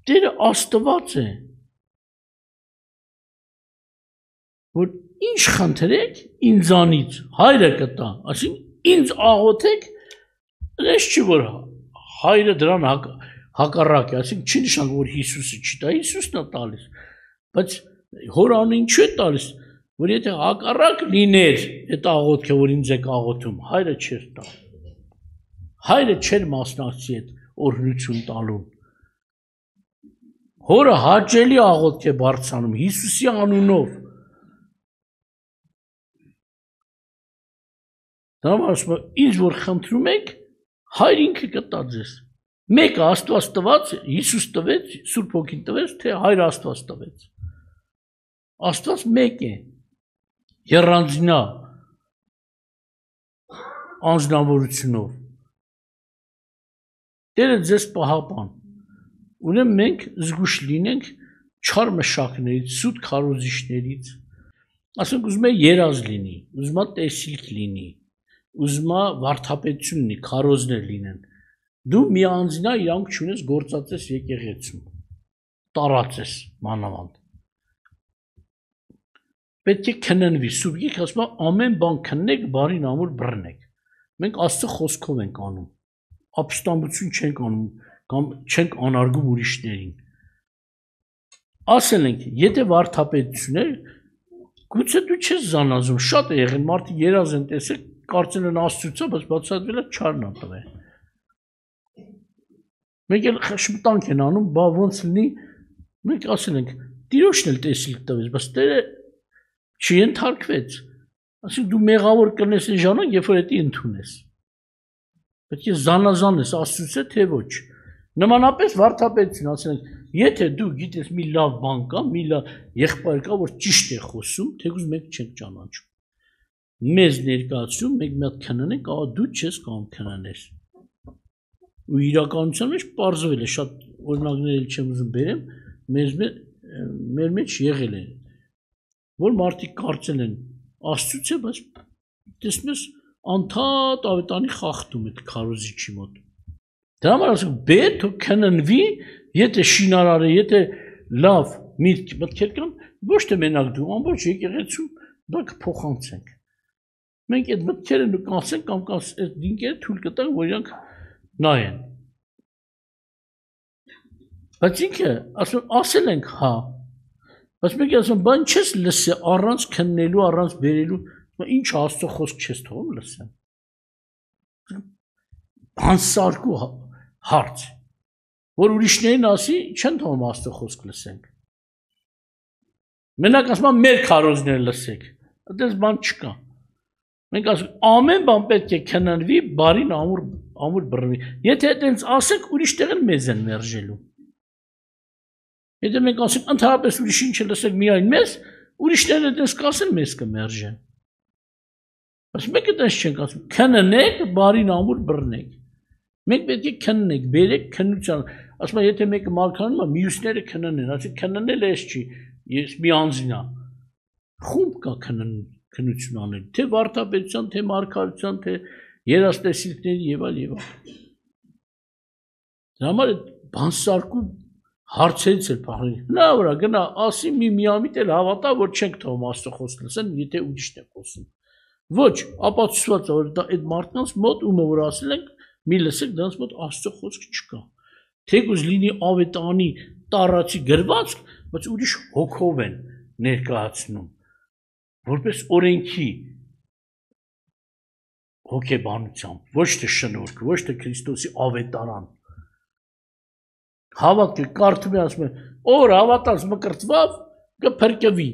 Տերը Աստված է, որ ինչ խնդրեք ինձանից, հայրը կտա, այսինքն ինձ աղոթեք, այս չի որ հայրը դրան հակառակ է, այսինքն չի նշանակում որ Հիսուսը չի տա, Հիսուսն է տալիս, բայց հոր անունը ինչու է տալիս, որ եթե հակառակ լիներ այդ աղոթքը, որ ինձ եք աղոթում, հայրը չէր տա։ Հայրը չէր մասնակցի այդ օրհնություն տալուն։ Հորը հաճելի աղոթք է բարձրանում Հիսուսի անունով։ Դա ասում է, ինձ որ խնդրում եք, հայր ինքը կտա ձեզ։ Մեկը Աստված տված, Հիսուս տվեց, Սուրբ Հոգին տվեց, թե հայր Աստված տվեց։ Աստված մեկ է, եռանձնա անձնավորությունով։ Տերը ձեզ պահապան, ուրեմն մենք զգուշ լինենք չար մշակներից, սուտ քարոզիչներից, ասենք ուզում է երազ լինի, ուզում է տեսիլք լինի, ուզում է վարդապետություն լինի, քարոզներ լինեն, դու մի անձնա իրանք չունես գործածես եկեղեցում, տարածես մանավանդ, պետք է քննվի, Սուրբ Գիրքը ասում է ամեն բան քննեք, բարին ամուր բռնեք, մենք Աստծո խոսքով ենք անում, ապստամբություն չենք անում, կամ չենք անարգում ուրիշներին։ Ասել ենք, եթե վարդապետություն է, գուցե դու չես զանազում, շատ է եղել, մարդիկ երազ են տեսել, կարծել են Աստծուց է, բայց բացատրվել է չարն է տվել։ Մենք էլ խշմտանք են անում, բա ոնց լինի, մենք ասել ենք, Տիրոջն էլ տեսիլք տվեց, բայց Տերը չենթարկվեց, ասենք դու մեղավոր կլինես այն ժամանակ, երբ որ դա ընդունես։ Պետք է զանազանես Աստծուց է, թե ոչ։ Նմանապես վարդապետություն ասել ենք, եթե դու գիտես մի լավ բան կա, մի լավ եղբայր կա, որ ճիշտ է խոսում, թեկուզ մենք չենք ճանաչում։ Մեզ ներկայացնում, մենք մի հատ քննենք, ահա դու չես կամ քննես։ Ու իրականության մեջ պարզվել է, շատ օրինակներ էլ չեմ ուզում բերեմ, մեր մեջ եղել է, որ մարդիկ կարծել են Աստծուց է, բայց տեսնում ես անդադ ավետանի խախտում այդ քարոզիչի մոտ։ Դրա համար ասում պետք է քննվի, եթե շինարար է, եթե լավ միտքեր կան, ոչ թե մենակ դու, ամբողջ եկեղեցում դա կփոխանցենք։ Մենք այդ մտքերը նկարենք կամ այդ դինքերը թույլ կտանք, որ իրանք նայեն։ Բայց ինքը ասել ենք հա, բայց մենք ասում բան չես լսի առանց քննելու, առանց բերելու, Ինչ Աստծո խոսք չես թողում լսեմ։ Բանսարկու հարց, որ ուրիշներին ասի, չեն թողում Աստծո խոսք լսենք։ Մենակ ասում եմ մեր քարոզները լսեք, այդպես բան չկա։ Մենք ասում ամեն բան պետք է քննվի, բարին ամուր բռնվի։ Եթե այդպես ասենք, ուրիշ տեղ են մեզ են մերժելու։ Եթե մենք ասենք ընդհանրապես ուրիշին չլսեք միայն մեզ, ուրիշներն այդպես կասեն մեզ կմերժեն։ Բայց մենք այդպես չենք ասում, քննեք, բարին ամուր բռնեք։ Մենք պետք է քննենք, բերեք քննության։ Ասում եմ, եթե մեկը մարգարանում է, մյուսները քննեն, ասի քննել էս չի, ես մի անձին եմ։ Խումբ կա քննություն անել, թե վարդապետության, թե մարգարության, թե երաժշտությունների եւ այլ եւ այլ։ Դրա համար բանսարկու հարցերից էլ փախնի։ Նա վրա գնա, ասի մի միամիտ էլ հավատա, որ չենք թողում Աստծո խոսք լսեն, եթե ուրիշն է խոսում։ Ոչ, ապացուցված է, որ այդ մարդկանց մոտ ումը որ ասել ենք, մի լսեք, դրանց մոտ Աստծո խոսք չկա։ Թեկուզ լինի ավետարանի տառացի գրվածք, բայց ուրիշ հոգով են ներկայացնում, որպես օրենքի հոգեբանությամբ, ոչ թե շնորհք, ոչ թե Քրիստոսի ավետարան։ Հավատքը կարդում է ասում է, ով հավատաց մկրտվավ, կփրկվի։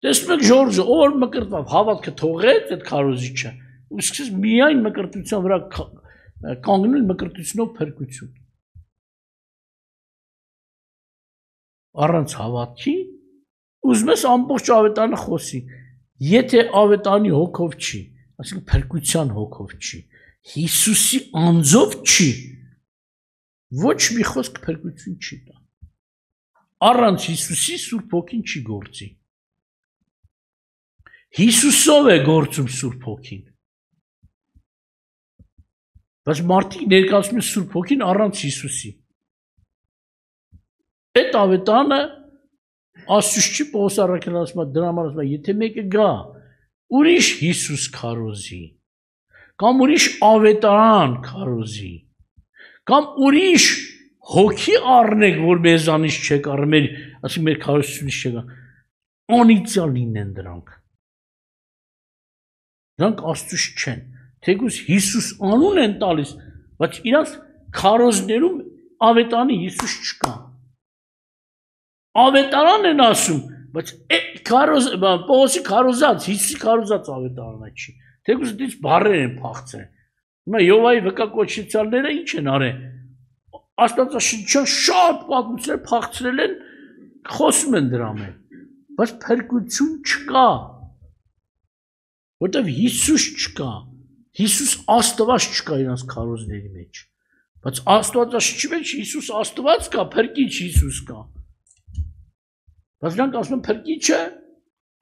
Տեսնում եք Ժորժը, ով մկրտվավ, հավատքը թողեց այդ քարոզիչը, ու սկսեց միայն մկրտության վրա կանգնել մկրտությունով փրկություն։ Առանց հավատքի ուզում ես ամբողջ ավետարանը խոսի, եթե ավետարանի հոգով չի, այսինքն փրկության հոգով չի, Հիսուսի անձով չի, ոչ մի խոսք փրկություն չի տա։ Առանց Հիսուսի Սուրբ Հոգին չի գործի։ Հիսուսով է գործում Սուրբ Հոգին։ Բայց մարդիկ ներկայացնում են Սուրբ Հոգին առանց Հիսուսի։ Այդ ավետարանը Աստծուց չի Պողոս առաքելն ասում է, դրա համար ասում է, եթե մեկը գա, ուրիշ Հիսուս քարոզի, կամ ուրիշ ավետարան քարոզի, կամ ուրիշ հոգի առնեք, որ մեզանից չեք առնել, ասի մեր քարոզությունից չեք, անիծյալ լինեն դրանք։ Դրանք Աստծուց չեն, թեկուզ Հիսուս անուն են տալիս, բայց իրանց քարոզներում ավետարանի Հիսուս չկա։ Ավետարան են ասում, բայց Պողոսի քարոզած, Հիսուսի քարոզած ավետարանը չի։ Թեկուզ դից բառեր են փախցրել։ Հիմա Յովայի վկակոչեցյալները ինչ են արել։ Աստվածաշնչյան շատ պատմություններ փախցրել են, խոսում են դրա մեջ, բայց փրկություն չկա։ Որտեվ Հիսուս չկա։ Հիսուս Աստված չկա իրանց քարոզների մեջ։ Բայց Աստվածաշնչի մեջ Հիսուս Աստված կա, փրկիչ Հիսուս կա։ Բայց նրանք ասում են փրկիչը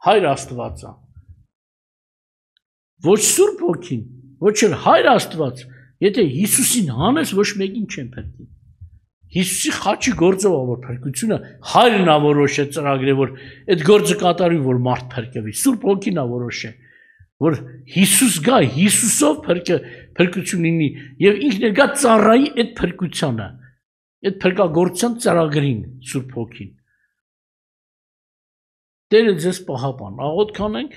Հայր Աստված է։ Ոչ Սուրբ Հոգին, ոչ էլ Հայր Աստված, եթե Հիսուսին հանես, ոչ մեկին չեն փրկի։ Հիսուսի խաչի գործով է որ փրկությունը Հայրն է որոշել ծրագրել, որ այդ գործը կատարվի, որ մարդ փրկվի։ Սուրբ Հոգին է որոշել, որ Հիսուս գա, Հիսուսով փրկություն լինի եւ ինքն էլ գա ծառայի այդ փրկությանը, այդ փրկագործության ծրագրին Սուրբ Հոգին։ Տերը ձեզ պահապան, աղոթք անենք,